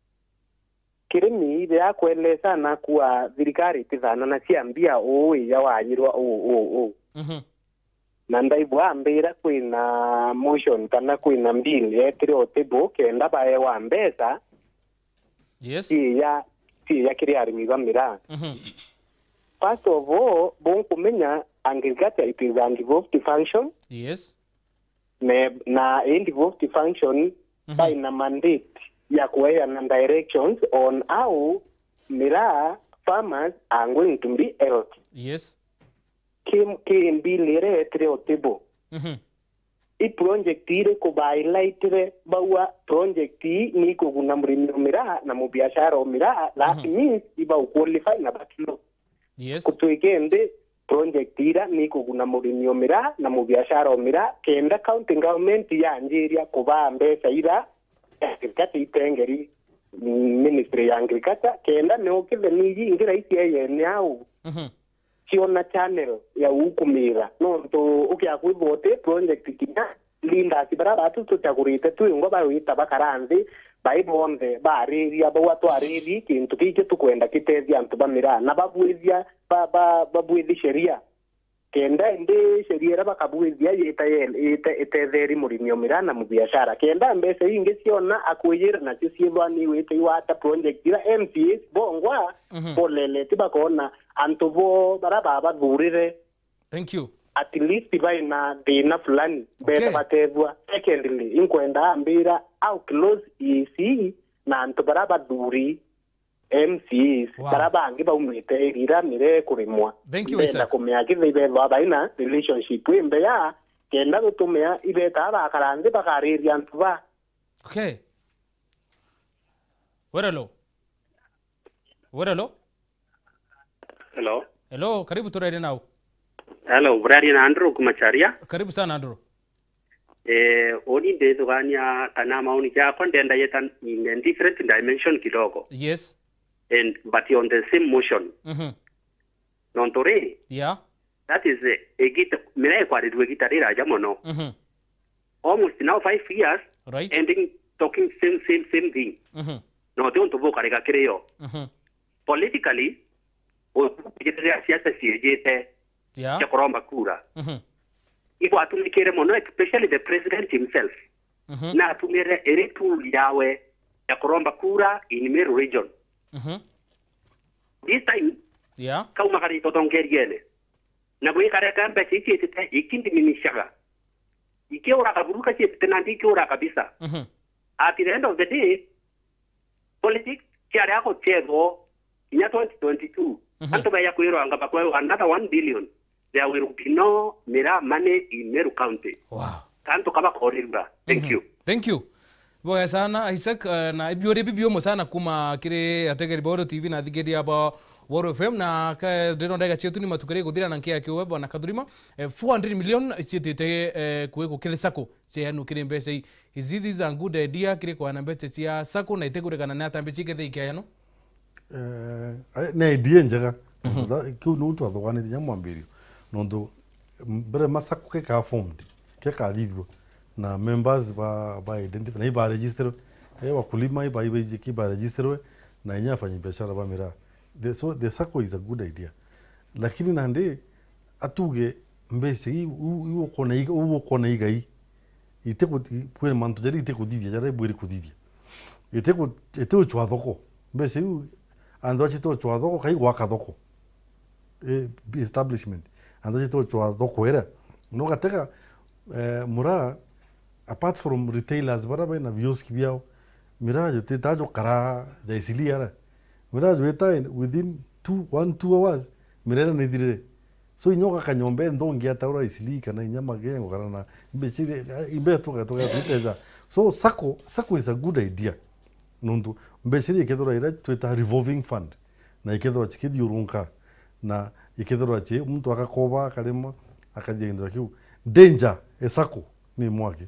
Kirimi biakwelesa na kuwa thirikari itithana na cia mbia uu ija wanyirwa uu, uu, uu. Mhm. Na ndaigua ambira kwina motion kana kwina bill yetire o table kenda baewa mbeca Yes. ciija, ciija kiri arimi ba miraa. Mhm. First of all, bunkumenya agriculture it is a devolved function. Yes. Na, na i devolved function Mhm. baina mandate ya kueana directions on how miraa farmers are going to be helped. Yes. Ki, ki bill iria yetire o table. Mhm. I project iriku ba highlightire bauga project ii ni ikuguna murimi o miraa na mubiashara o miraa, that Mhm. means ibau qualify na bakilo. Yes. Kutwika indi project ira ni ikuguna murimi o miraa na mubiashara o miraa, kenda county government yanjiria kubaa mbeca ira agriculture itengeri ministry ya agriculture, kenda nio kitheni iji ingi raisi eyene au Mhm. ciona channel ya ukumira. Nontu ukia kwithwa uti project kinya leaders bara batu tuchagurite twingwa bawita bakara nthi, bai bonthe bariria, bauga twariri kintu giki tukwenda kitethia antu ba miraa, na babwithia, ba, ba, babwithi sheria. Kenda indi sheria iria bakabwithia yita ye-, yite-, itetheri murimi o miraa na mubiashara. Kenda mbeca ingi ciona akwijira nacio ciithwa ni wite iwata project ira M C As bongwa Mhm. boleleti bakona antu bo bara babathurire Thank you. At least baina thina fulani, Okay. beta batethwa. Secondly, inkwenda ambira au close E C na antu bara bathuri M C As, Wow. bara bangi baumite area ira miraa ikurimwa. Thank you, Ndenda Isaac. kumea kithei bethwa baina relationship imbeya, kenda gutumia ibeta bakara nthi bakariria antu ba. Okay. Werelo. Werelo. Hello. Hello, karibu turaire nau. Hello, buraria na Andrew Kumacharia. Karibu sana, Andrew. Eh, uni ndithugania kana maoni jakwa ndenda yeta in a different dimension kidogo. Yes. And, but on the same motion. Mhm. Nontu ri, Yeah. that is, eh, igita, miraa ikwarirua igita riraja mono. Mhm. Almost now five years, Right. ending, talking same, same, same thing. Mhm. No ti untu bukarega kiri yo. Mhm. Politically, u-, riria siasa ciijite, yeah, cia kuromba kura, mhm, igwatumikire mono, especially the president himself. Mhm. Na atumire iri tool yawe ya kuromba kura in Meru region. Mhm. This time, yeah, kaumagarite uthongeriene. Na gwikareka mbeca ici ciitite ikindiminishaga. Ikiura kaburu ka ciitite nandi ikiura kabisa. Mhm. At the end of the day, politics ciaria guchethwo kinya twenty twenty-two. Mhm. Antu beja kwirwa anga bakwewa another one billion. There will be no miraa money in Meru County. Wow. Kantu kaba korirura. Thank, mhm, you. Thank you. Bwega sana, Isaac, eh, na ibiuri bibiumu sana kuma kiri ategeri ba Oro T V na athikiria ba Oro F M, na ka-, ndino ndega cietu ni matukari guthira na nkia kiuwe, bwana Kathurima, eh, four hundred million ciitite, eh, kwi gukiri sacco, cieanu kiri mbeca ii. Is it, this a good idea kiri kwana mbeca cia sacco na itekurikana ni atambi cikethe ikiayano? Eh, ai-, ni idea njega. Mhm. Nontu tha-, kiu niu twathuganitie kinya mwambirio. Nontu mbere ma sacco kekaa formed, kekathithua, na members ba, ba identify, na iba registerwe, eh, wakulima iba, iba iji-, iba registerwe, na inya afanyi biashara ba miraa. The, so the sacco is a good idea. Lakini nandi atuge mbeca ii, u-, u-, ukona iga-, u-, ukona igai, itiku-, i-, kwina mantu jaria itikuthithia, jaria ibwiri kuthithia. Itiku-, itiuchwa thoko. Mbeca iu, antu acio itiuchwa thoko, kai gwaka thoko. Eh, establishment. Antu acio itiuchwa thoko iria. Na ugatega, eh, muraa, apart from retailers baria bena vioski biao, miraa jutitaa jukara ja Eastleigh ara. Miraa jwita in, within two, one, two hours, miraa iria nithirire. So, inya ugaka nyomba inthongi ataura Eastleigh kana inya Magengo kana na mbeca iria, imbe tuga-, tuga-, twiteja. So, sacco, sacco is a good idea. Nontu mbeca iria ikethirwa iria twita revolving fund, na ikethirwa cikithiurunka, na ikethirwa ci, muntu agakoba, akarima, akathithia kintu kiu. Danger e sacco ni mwaki.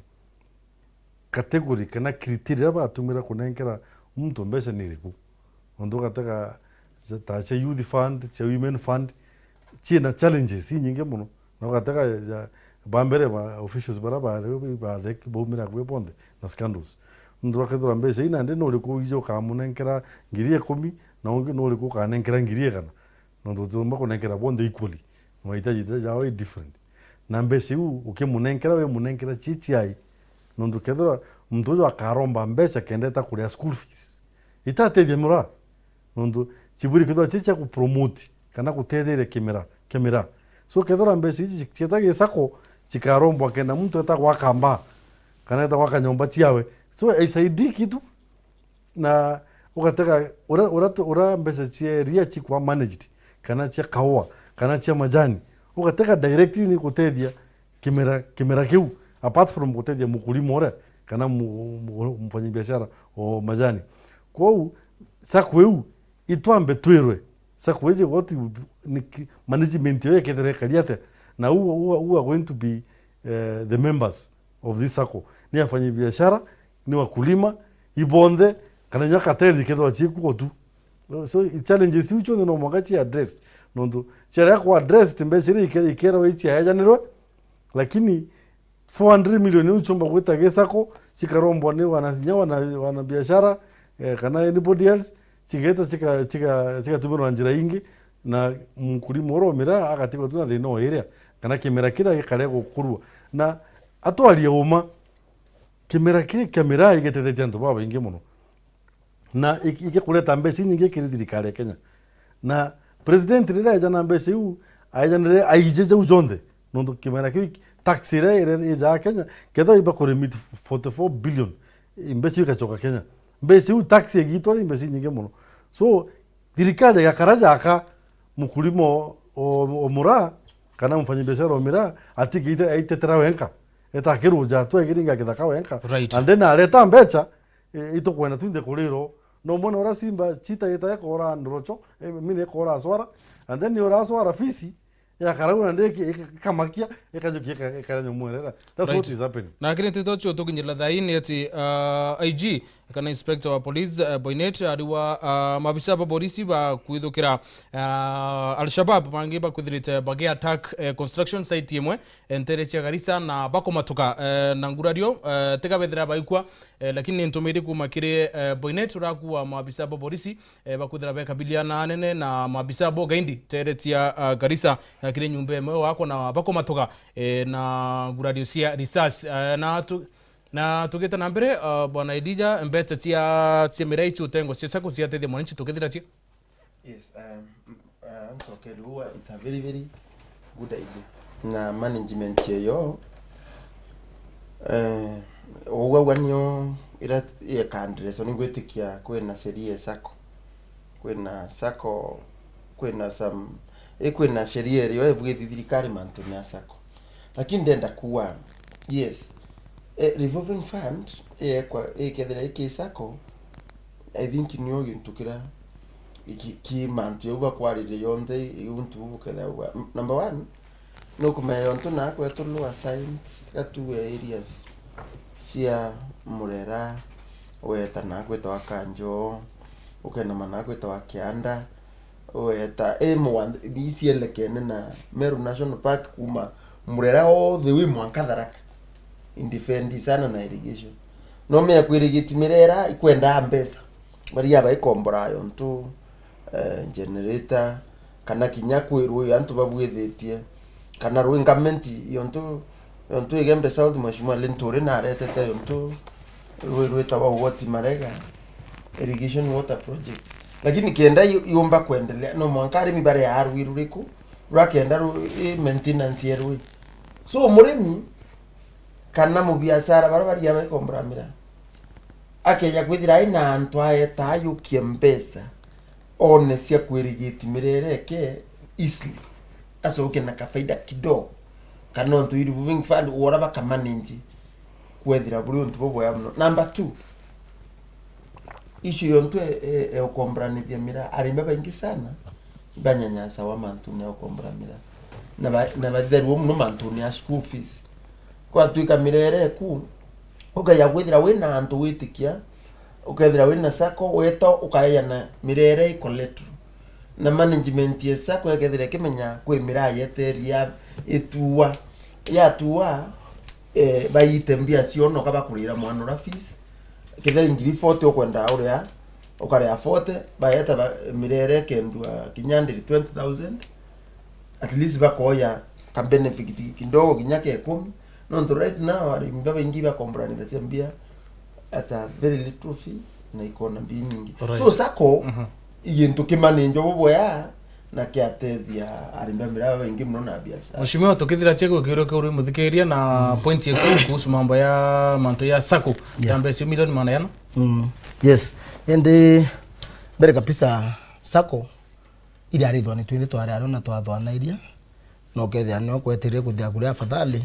Category kana criteria iria batumira kunenkera muntu mbeca ni iriku? Nontu ugatega cia, ta cia youth fund, cia women fund, ciina challenges inyingi mono. Na ugatega ja, ba mbere ba officials baria bari ba thek baumire akui bonthe na scandals. Nontu bakethirwa mbeca ii nandi ni uriku iji ukamunenkera ngiri ikumi, na ungi ni uriku ukanenkera ngiri igana? Nontu utiumba kunenkera bonthe equally. Mahitaji jao i different. Na mbeca iu ukimunenkera, wimunenkera ci ciai? Nontu kethirwa muntu uju akaromba mbeca kenda eta kuria school fees, itatethia miraa. Nontu cibwiri kethirwa ci cia kupromote kana kutetheria kimera, kimera. So kethirwa mbeca ici cieta gi sacco, cikarombwa kenda muntu eta gwaka mbaa, kana eta gwaka nyomba ciawe. So, aisaidii kitu. Na ugatega ura, ura, ura mbeca cia iria cikwa managed, kana cia kaua, kana cia majani, ugatega directly ni gutethia kimera, kimera kiu, apart from gutethia mukulima uria, kana mu, mu, mfanyabiashara o majani. Kwou, sacco iu, itwambe twirwe, sacco iji what ni ki-, management yayo ikethira ikari atia, na who, who, who are going to be, eh, the members of this sacco? Ni afanyabiashara, ni wakulima, ibonthe, kana inya cartel ikethirwa ciikuo tu. So, i challenges iu cionthe no mwanka ci address. Nontu ciarega ku address, mbeca iria ike-, ikerwa iciaejanirwe, lakini four hundred million iu ciumba gwita gi sacco, cikarombwa ni wana, inya wana, wana biashara, eh, kana anybody else, cigeta cika-, cika-, cigatumirwa na njira ingi, na mukulima uria o miraa agatigwa tu na thina o iria, kana kimera kiria gikare gukurua. Na atwarie uma, kimera kii kia miraa igetethetie antu babaingi mono. Na iki-, igikureta mbeca inyingi kiri thirikari ya Kenya. Na president riria aeja na mbeca iu, aejanire aije jau jonthe. Nontu kimera kiu, tax iria ire-, ijaa Kenya, kethirwa iba kuremit forty-four billion, mbeca iu igacoka Kenya. Mbeca iu tax igitwa ni mbeca inyingi mono. So, thirikari igakara jaka mukulima o, o, o muraa, kana mfanyabiashara o miraa, atigite aitetera wenka. Eta akiruja tu, akiringa kithaka wenka. Right. And then areta mbeca, e, itukwenda twinthe kuriro. No mwana uria simba, chita ita ekora ndorocho, e, mine ekora swara, and then ni ura swara fisi, ya karau na ndiki, ika-, ikamakia, ikajukia, ika-, ikara nyomwerera. That's, right, what is happening. Na kiri nteto cio tukinyirira thaini ati, uh, I G, kana inspector wa police, eh, Boynet, ariwa, ah, maabisa ba borisi bakwithukira, ah, Al-Shabab bangi bakwithirite bagi attack, eh, construction site imwe, eh, ntere cia Garissa na bakomatuka, eh, na ngurario, eh, tiga bethira baikua, eh, lakini ni ntumiri kuma kiri, eh, Boynet urakua maabisa ba borisi, eh, bakwithira bekabiliana anene na maabisa bo gaindi ntere cia, ah, Garissa, eh, kiri nyumba imwe wako na bakomatuka, eh, na ngurario cia risasi, eh, na tu-, Na tugite na mbere, uh, Bwana Elijah, mbeca cia, cia miraa ici utengo cia sacco ciatethia mwananchi tukithira cia? Yes, um, uh, ntokeri uwa, it's a very, very good idea. Na management eyo, eh, ugwagwa nio ira ikaandreso ni gwitikia kwina sheria ya sacco. Kwina sacco, kwina some, i kwina sheria irio ibwithii thirikari mantune ya sacco. Lakini ndenda kuwa, yes, eh, revolving fund, eh, kwa, ikethira iki sacco, I think nio gintu kira ki, ki mantu jau bakwariria yonthe, iu ntu bukethagwa. M-, number one, nukumenya yontu na kwetu lower science, gatuwe areas cia Murera, weta na kwitawa Kanjo, ukenama na kwitawa Kianda, weta, i mugwanda, icielekene na Meru National Park kuma Murera all the way mwanka Tharaka. Indefend sana na irrigation. No mea kwirigiti mirera ikwenda mbeca. Baria baikombora yontu, eh, generator, kana kinya kwi rui antu babwithitie, kana rui ngamenti yontu, yontu Igembe South Mheshimiwa Linturi naretete yontu rui rwitawa Ugoti Marega Irrigation Water Project. Lakini kenda yu-, yumba kwendelea, no mwanka arimi baria rui ruriku, rwa kenda ru-, i maintenance ya rui. So murimi kana mubiashara baria baria baikombora miraa, akeja kwithira aina antu aeta ayukie mbeca, one cia kwirigiti mirereke easily, acoke na kafaida kidogo, kana ontu i revolving fund, wora bakamanage kwethira buri untu bubwega muno. Number two, issue yontu e, e, e ukomboranithia miraa, arimi babaingi sana ibanyanyasawa mantune ya ukombora miraa, na ba-, na batherua muno mantune ya school fees. Kwatwika mirere eku, ukeja kwithira wina antu witikia, ukethira wina sacco, weta ukaeana mirere i collateral. Na management ya sacco ekethira ikimenya kwi miraa yeteria itua, yatua, eh, baite mbia ciono ka bakurira mwana ura fees. Kethira ngiri forty ukwenda uria, ukaria forty, baeta ba-, mirere ikendua kinya ndiri twenty thousand. At least bakoya ka benefit kidogo kinya ke kumi. Nontu right now arimi babaingi bakomboranithagia mbia at a very little fee na ikona mbia nyingi. Alright. So sacco, mhm, i gintu kimanenjwa bubwea na kiatethia arimi ba miraa babaingi muno na biashara. Mheshimiwa, tukithira cia gwikiuria kiu uri muthikiria na, mm, point yeku kuhusu mambo ya mantu ya sacco, yeah, ya mbeca milioni magana yana. Mm. Yes. Indi mbere kabisa sacco iriarithwa ni twinthe twari ario na twathwanairia, na ukethira nio kwetirire kuthia kuria afadhali.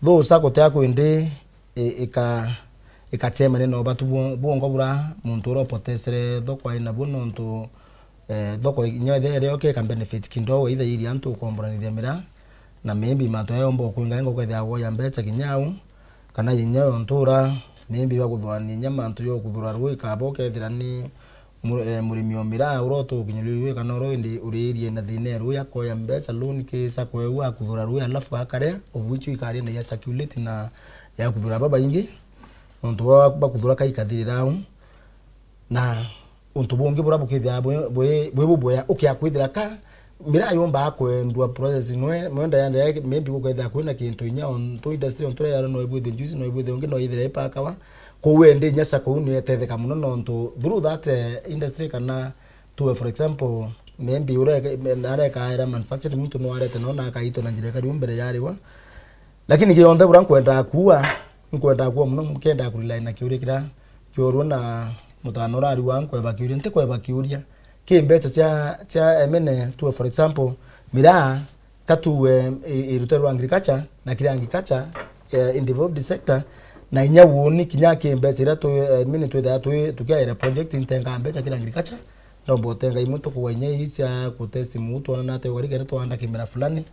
Though sacco tia kwindi i-, ika-, ikacemania na ubatu bwo-, bwongo bura muntu uria upotesere thoko ai nabu, nontu, eh, thoko inya ithia irioke ika benefit kidogo, either iria antu ukomboranithia miraa, na maybe mantu aya yomba ukwinga inga ukethira agoya mbeca kinya au, kana inya yo ntura, maybe bakuthwania inya mantu yo kuthura rui kaba ukethira ni mu-, eh, murimi o miraa uria utukinyuria rui kana uria indi uriirie na thina ya rui akoya mbeca loan ki sacco eu akuthura rui alafu akaria, of which ikaria na ya circulate na ya kuthura babaingi. Nontu bwa, bakuthura kaikathirira au. Na untu bungi buria bukithira bwi, bwi, bwi bubwea, ukia kwithira ka miraa yumba kwendwa process nwe, mwenda yande, maybe gukethira kwina kintu inya ontu industry ontu ria yaro no ibwithe juice, no ibwithe ungi no ithire ipakawa. Kou ende inya sacco uu ni etetheka muno nontu through that, eh, industry kana tuwe, for example, maybe uria areka era manufacturing muntu no arete no na akaitwa na njira ikari mbere yariwa. Lakini kionthe buria nkwendaa kuua, nkwendaa kuua muno, nkendaa kurely na kiuria kiria kiorua na mutano urari wa nkweba kiuria, ntikweba kiuria. Ki mbeca cia, cia M N A tuwe, for example, miraa ka tuwe i, i rutere rwa agriculture, na kiri agriculture, eh, in developed sector, na inya woni kinya ki mbeca iria tu, eh, mini twithaa twi, tukiaira project ntengaa mbeca kiri agriculture, ndomba utenga imwe tukuwa inya ii cia kutest muu twona nate ugari kenda twanda kimera fulani,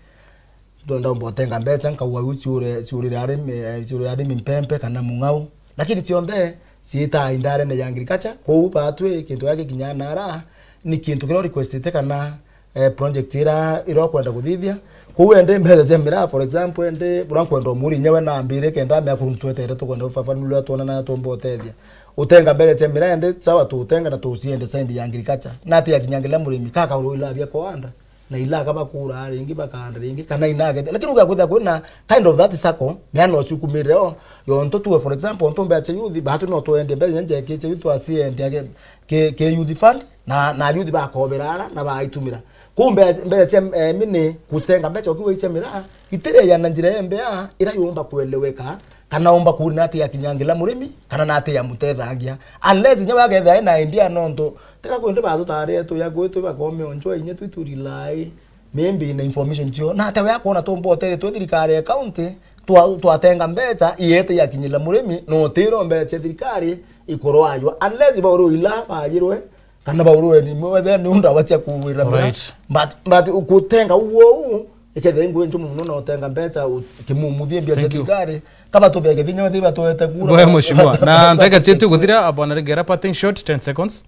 Ndo-, ndomba utenga mbeca, nkauga u ciure, ciurire arimi, eh, ciurire arimi mpempe kana mung'au. Lakini cionthe ciitaa indarene ya agriculture. Kwou batwi kintu gia gikinya nara, ni kintu kiria requestite kana, eh, project ira, ira ukwenda kuthithia. Kwou ende mbeca cia miraa, for example, ende buria nkwenda umuria inya we nambire kenda amea kuruntu twetere tukwenda ufafanuria uria twonana na tumba utethia. Utenga mbeca cia miraa ende, sawa, tuutenga na tuciende side ya agriculture. Nati ya kinya ngila murimi, kaka uru ila bia kuanda. Na ila kaba kura ringi bakaanda ringi, kana ina agethe. Lakini ugakwithira kwina kind of that circle, miana ucio ukumirire o. Yontu tuwe, for example, ontu mbeca cia youth, batu no twende mbeca inya njekiche youth twaciende age-, ki, ki youth fund, na, na youth bakobera ara, na baitumira. Kuu mbe-, mbeca cia, eh, mini, gutenga mbeca ukiwa icia miraa, itiriaja na njira ya mbea, ira yumba kueleweka, kana umba kuuna ati ya kinya ngila murimi, kana na ati ya mutethangia. Unless inya wagethira ena idea nontu, tiga kwindi batutarire tuya gwitu bakome onjwa inya twi tu rely, maybe na information cio. Na ate we akwona tumba utethia twi thirikari ya county, twa-, twatenga mbeca, iete ya kinyira murimi, no utiro mbeca cia thirikari ikorwajwa. Unless bauru ila bayirwe, kana bauru ni mwethe ni unda wacha kuwira mira. Alright. But, but ukutenga uo u, ikethe ingwe njumu muno na utenga mbeca u-, kimumuthie mbia cia Thank you. thirikari, kaba tuthege thinya wethi batuete kura. Ngoya mheshimiwa. Na ndagika cietu guthira, bwana Regera, parting shot, ten seconds.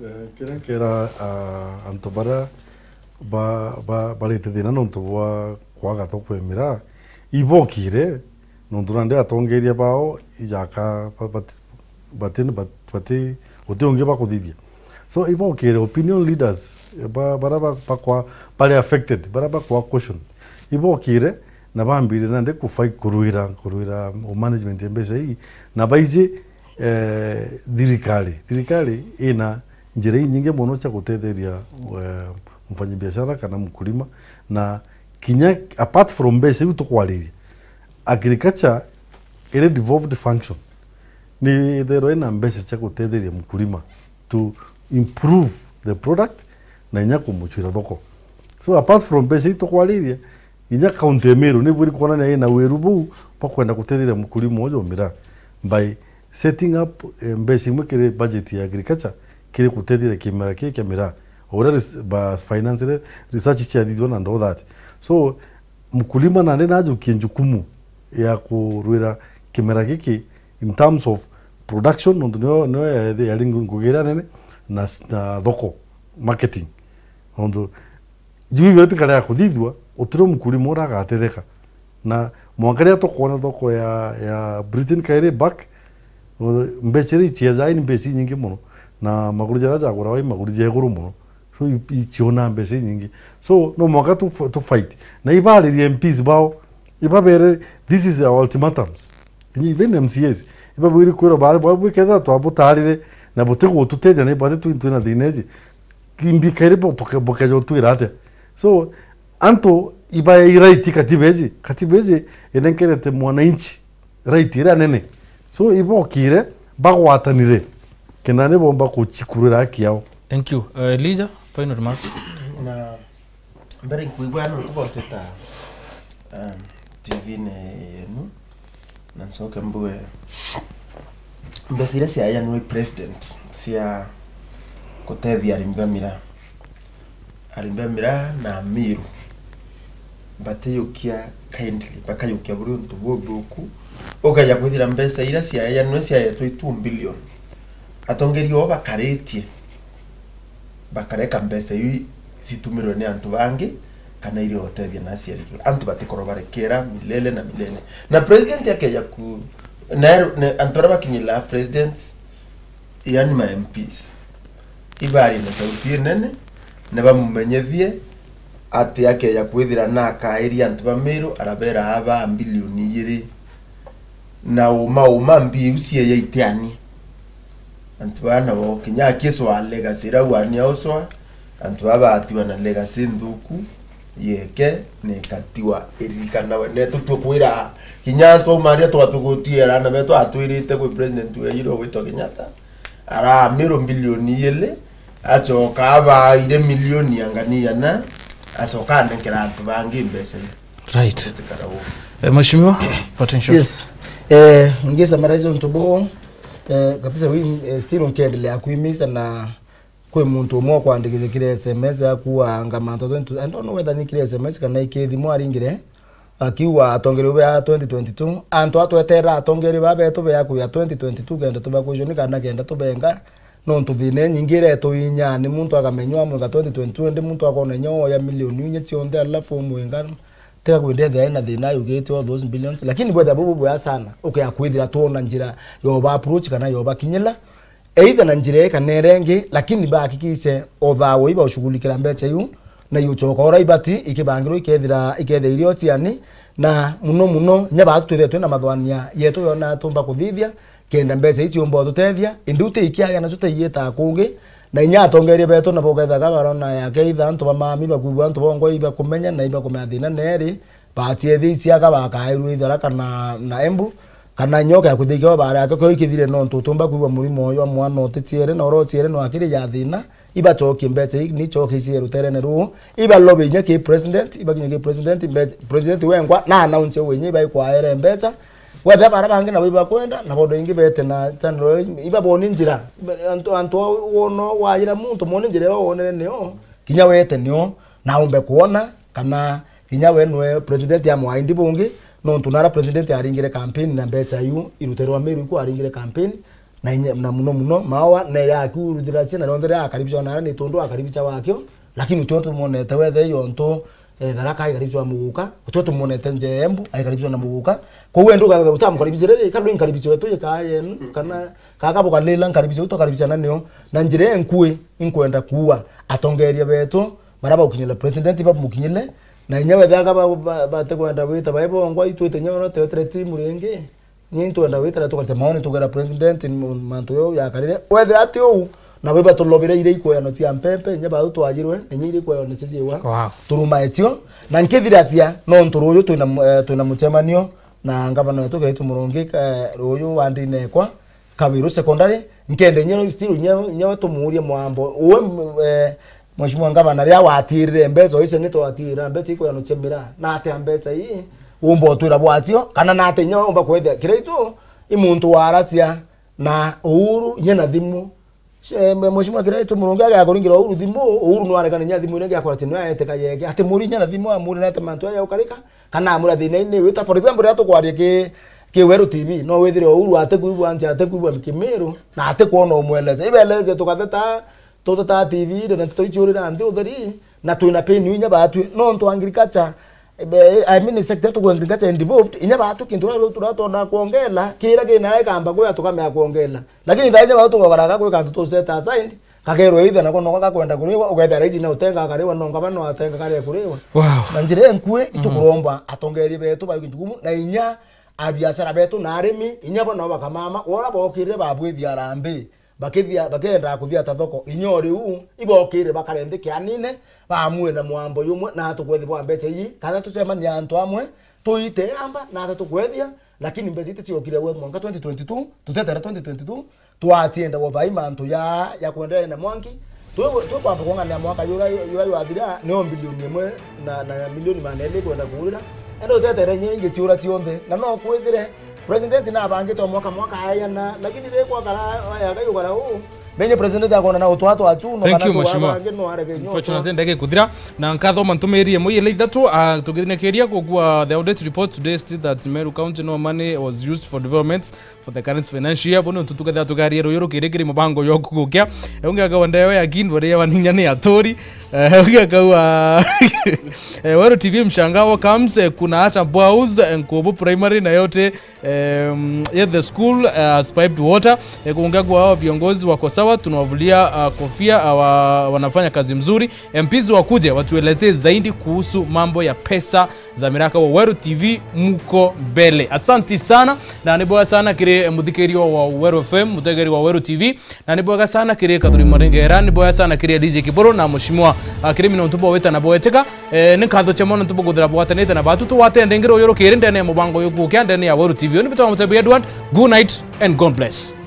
Eh, kiria kera, ah, antu baria ba-, ba-, barite thina nontu bwa kwaga thoko ya miraa, ibokire, nontu nandi atongeria bao ijaka ba-, bat-, bati-, bat-, bati, guti ungi bakuthithia. So, ibokire opinion leaders, eh, ba-, baria ba-, bakwa-, bari affected, baria bakwa caution. Ibokire na bambire nandi kufight kurwira, kurwira management ya mbeca ii, na baiji, eh, thirikari. Thirikari ina njira inyingi mono cia gutetheria, eh, mfanyabiashara kana mkulima, na kinya apart from mbeca iu tukwariria, agriculture iri devolved function. Ni itherwa ina mbeca cia gutetheria mkulima to improve the product na inya kumucwira thoko. So apart from mbeca iu tukwariria, inya county ya Meru ni bwiri kwonania ina wiru buu bwa kwenda gutetheria mkulima uju miraa by setting up, eh, mbeca imwe kiri budget ya agriculture kiri gutetheria kimera kii kia miraa. O uria res-, ba finance re-, research ciathithua na ndo that. So, mkulima nandi najukie njukumu ya kurwira kimera giki in terms of production, nontu nio, nio ya-, yari ngu-, ngugi iria nene, na s-, na thoko, marketing. Nontu juu biria bikarea kuthithua, utiro mkulima uria agatetheka. Na mwanka riria tukwona thoko ya, ya Britain kairi back, mbeca iria iciejaa ni mbeca inyingi mono, na maguru jaria jaguragwa i maguru ja iguru mono. So, i-, icionaa mbeca inyingi. So, no mwanka tu, tu fight. Na ibaririe M Ps bao, ibabere, this is our ultimatums. Kinya even M C As, ibabwiri kwirwa ba, ba, bwikethira twabutarire, na butigututeithia, na ibati twi, twina thina iji. Kimbi kairi bo, tuke-, bukeja utwira atia? So, antu ibae i right katiba iji. Katiba iji inenkerete mwananchi right iria nene. So, ibokire, bagwatanire, kenda ni bomba kuchikurira haki yao. Thank you. Uh, Elijah, final remarks. Na mbere nkwigua nontu bontwita, um, T V-ini yenu, na ncoke mbuge mbeca iria ciaeanirwe i president cia gutethia arimi ba miraa, arimi ba miraa na Amiru, batiyukia kindly, bakayukia buri untu buthuku, ukeja kwithira mbeca iria ciaeanirwe ciaetwe i two billion, atongeria oo bakaritie, bakareka mbeca iu citumirwe ni antu bangi, kana iria utethia na aciari. Antu batikorwa barekera milele na milele. Na president akeja ku, na eru-, ne, antu aria bakinyira president, yani ma M Ps, ibarie na sauti inene, na bamumenyethie ati akeja kwithira na akairia antu ba Meru, arabera aba mbilioni igiri. Na uma, uma mbi iu cieja itiani. Antu baa nabo kinya akiswa legacy iria wania uswa, antu baa batiwa na legacy nthuku, yeke na ikatiwa iririkanawe. Ne tutue kwira kinya antu aumaria twatugutiera na betu atwirite kwi president wejirwe gwitwa Kenyatta, aramirwo mbilioni igiri, acoka abaire milioni angani igana, acoka anenkera antu bangi mbeca iu. Right. Gutikara uu. Eh, Mheshimiwa, parting shot. Yes. Eh, ngisa summarize untu buu, eh, kabisa, we, eh, still nkiendelea kuimiza na kwi muntu umwe ukwandikithia kiri S M S akuanga mantu twenty, I don't know whether ni kiri S M S kana iki thimu aringire, akiuga atongeria bea twenty twenty-two, antu a tweterera atongeria baa betu bea kuya twenty twenty-two kenda tubakucio ni kana kenda tubenga, nontu thina inyingi iretuinya ni muntu akamenywa amwenga twenty twenty-two, indi muntu akona inya oya milioni inya cionthe, alafu umwenga tiga kwendethia ena thina ayugite all those billions, lakini bwethia bubu bwea sana, ukea kwithira twona njira yoba approach kana yoba kinyila, either na njira ii kana iria ingi, lakini bahakikishe o thawe ibaushughulikira mbecha iu, na iuchoka ura ibati ikibangirwa ikethira, ikethia irio ciani, na muno muno, inya baatu twithia twina mathwania yetu yona tumba kuthithia, kenda mbecha ici umba ututethia, indi utiikiaga nacio taiyitaa kungi, na inya atongeria betu nabo ukethaga barona yake either antu ba mami bakwigua antu bongwa ibakumenya na ibakumenya thina neri, bachiethia isiaga bakairwe ithara kana na Embu, kana nyoka ya kuthikio baria yake kio ikithire nontu utumba kwigua murimo uyu wa mwana utichiere na urochiere no akiri ya thina, ibachokie mbecha ii, ni choke icie ruterene ruu, ibalobe inya ki president, ibakinye ki president, mbe-, president wengwa, na announce we inya ibaikwaere mbecha, wethe bara bangi nabo ibakwenda, na bondo ingi bete na channel, ibaboni njira, iba-, antu, antu wono wajira muntu moni njira yo wonere nio, kinya wete nio, na umbe kuona, kana kinya we nwe president ya mwaindi bungi, nontu nara president aringire campaign na mbecha iu iruterwa Meru iku aringire campaign, na inya, na muno muno, mawa ne yaku ruthiracia na rionthe ria akaribisha nara ni tondu akaribisha wakio, lakini utio tumonete wethe yontu, eh, Tharaka ikaribisha muguka, utio tumonete nje Embu, aikaribisha na muguka. Kwa hiyo nduga utamkaribisha riri, kando inkaribisha wetu yeka yenu, kana kaka bukalila nkaribisha uto karibisha na nio, na njira enkui inkwenda kuwa atongeria betu, bara baukinyile president bamukinyile, na inya wethe aka ba, ba, bate kwenda gwita bai bongwa itwite inya ona teotere timu ringi, ni twenda gwitira tukarite maoni tugera president m-, mantu yo yakarire. Wethe ati uu, na bwe batulobire ire ikweyano cia mpempe, inya bau twajirwe, na inya ire ikweyano cia ciwa. Wow. Turuma etio, na nkithiracia, nontu ruyu twina mu-, eh, twina muchemanio na ngavana wetu Kiraitu Murungi, eh, ruyu wa ndinekwa, Kabiru Secondary, nkenda inya still inya, inya tumuurie mwambo. Uwe, m-, eh, Mheshimiwa Ngavana, riria watirire mbecha icio ni twatira mbecha ikweyano cia miraa, na atia mbecha ii umba utwira bwacio, kana na atia inya umba kwethia Kiraitu i muntu waracia na Uhuru inya na thimu. Eh, Mheshimiwa Kiraitu Murungi agakuringira Uhuru thimu, Uhuru nwarekana inya thimu iria ngiakora ati nwaete kayeke. Ati muri inya na thimu amuri nete mantu aya ukarika, kana amura thina ini wita. For example, riria tukwaria ki, ki Weru T V, no withire Uhuru ate kuigua nja, ate kuigua Kimiru, na ate kuona umweleza. Ibeleze tukatheta, tutheta T V ire na nteto ichiurira nthi utheri, na twina pain inya batwi. Nontu agriculture, eh, I mean, sector tuku agriculture involved, inya batwi kintu ria turatona kuongela, kira kina ikamba kuya tukamea kuongela. Lakini thaa inya batwi tukogara gakwi kantu tu set aside, kakerwa either nako noko gakwenda kuriwa, ugethera iji na utenga akariwa, no ngaba no atenga kare kuriwa. Wow. Na njira enkui, mhm, itukuromba atongeria betu ba gintu kumu, na inya abiashara betu na arimi, inya bo nao bakamama, wora bokirire babwithia arambi. Bakithia, bakenda kuthia ta thoko, inya o riu, ibokire bakare nthi kianine, bamwira mwambo yumwe, na tukwethi bwa mbecha ii, kana tucemania antu amwe, tuite amba, na ata tukwethia, lakini mbecha ii ticiokire gwe mwanka twenty twenty-two, tutetere twenty twenty-two, twachienda gwa vai mantu ya, ya kwenderea na mwanki, twi, twi kwamba kung'ania mwaka yura, yura ywathira, nio mbilioni imwe na, na milioni magana eli kwenda kuurira, ende utetere inya ingi ciura cionthe, na no kwithire, President nabangite o mwaka mwaka ayana, lakini ri kwakara, aya, Ngai ukara uu. Menye president akona na utwa twa chu, no. Thank kana you, tu Mheshimiwa. Abange no arege nyo. Unfortunately, ndege kuthira. Na nkathoma ntumiri imwe ile ithatu, ah, tukithinakiria gukua the audit report today state that Meru County no money was used for developments for the current financial year. Bono tutukethira tugaria ruyu rukiri kiri mubango yo kugukia. Ungi akawa ndewe ya kin, bore ya waninya ni aturi. Eh, ungi akawa, eh, Weru T V mshangao comes, eh, kuna hata Bwaus, eh, Nkubu Primary na yote. Em, yet the school, uh, has piped water. Eh, kuongea kuwa hao viongozi wako sawa, tunawavulia, uh, kofia, uh, wa-, wanafanya kazi mzuri. M Ps wakuje watuelezee zaidi kuhusu mambo ya pesa za miraka. Wa Weru T V muko mbele. Asanti sana, na ni bwega sana kiri, eh, muthikirio wa Weru F M, mutegeri wa Weru T V. Na ni bwega sana kiri Kathuri Maringera, ni bwega sana kiri D J Kiboro na Mheshimiwa, ah, kiri mina untu bwa wita na bweteka. Eh, ni nkatho cia mono ntu bukuthira bwatanite na batu tuwatene ndengiro uyu rukiri ndene ya mubango uyu kukia ndene ya Weru T V. Ni bitwa Mutebi Edward. Good night and God bless.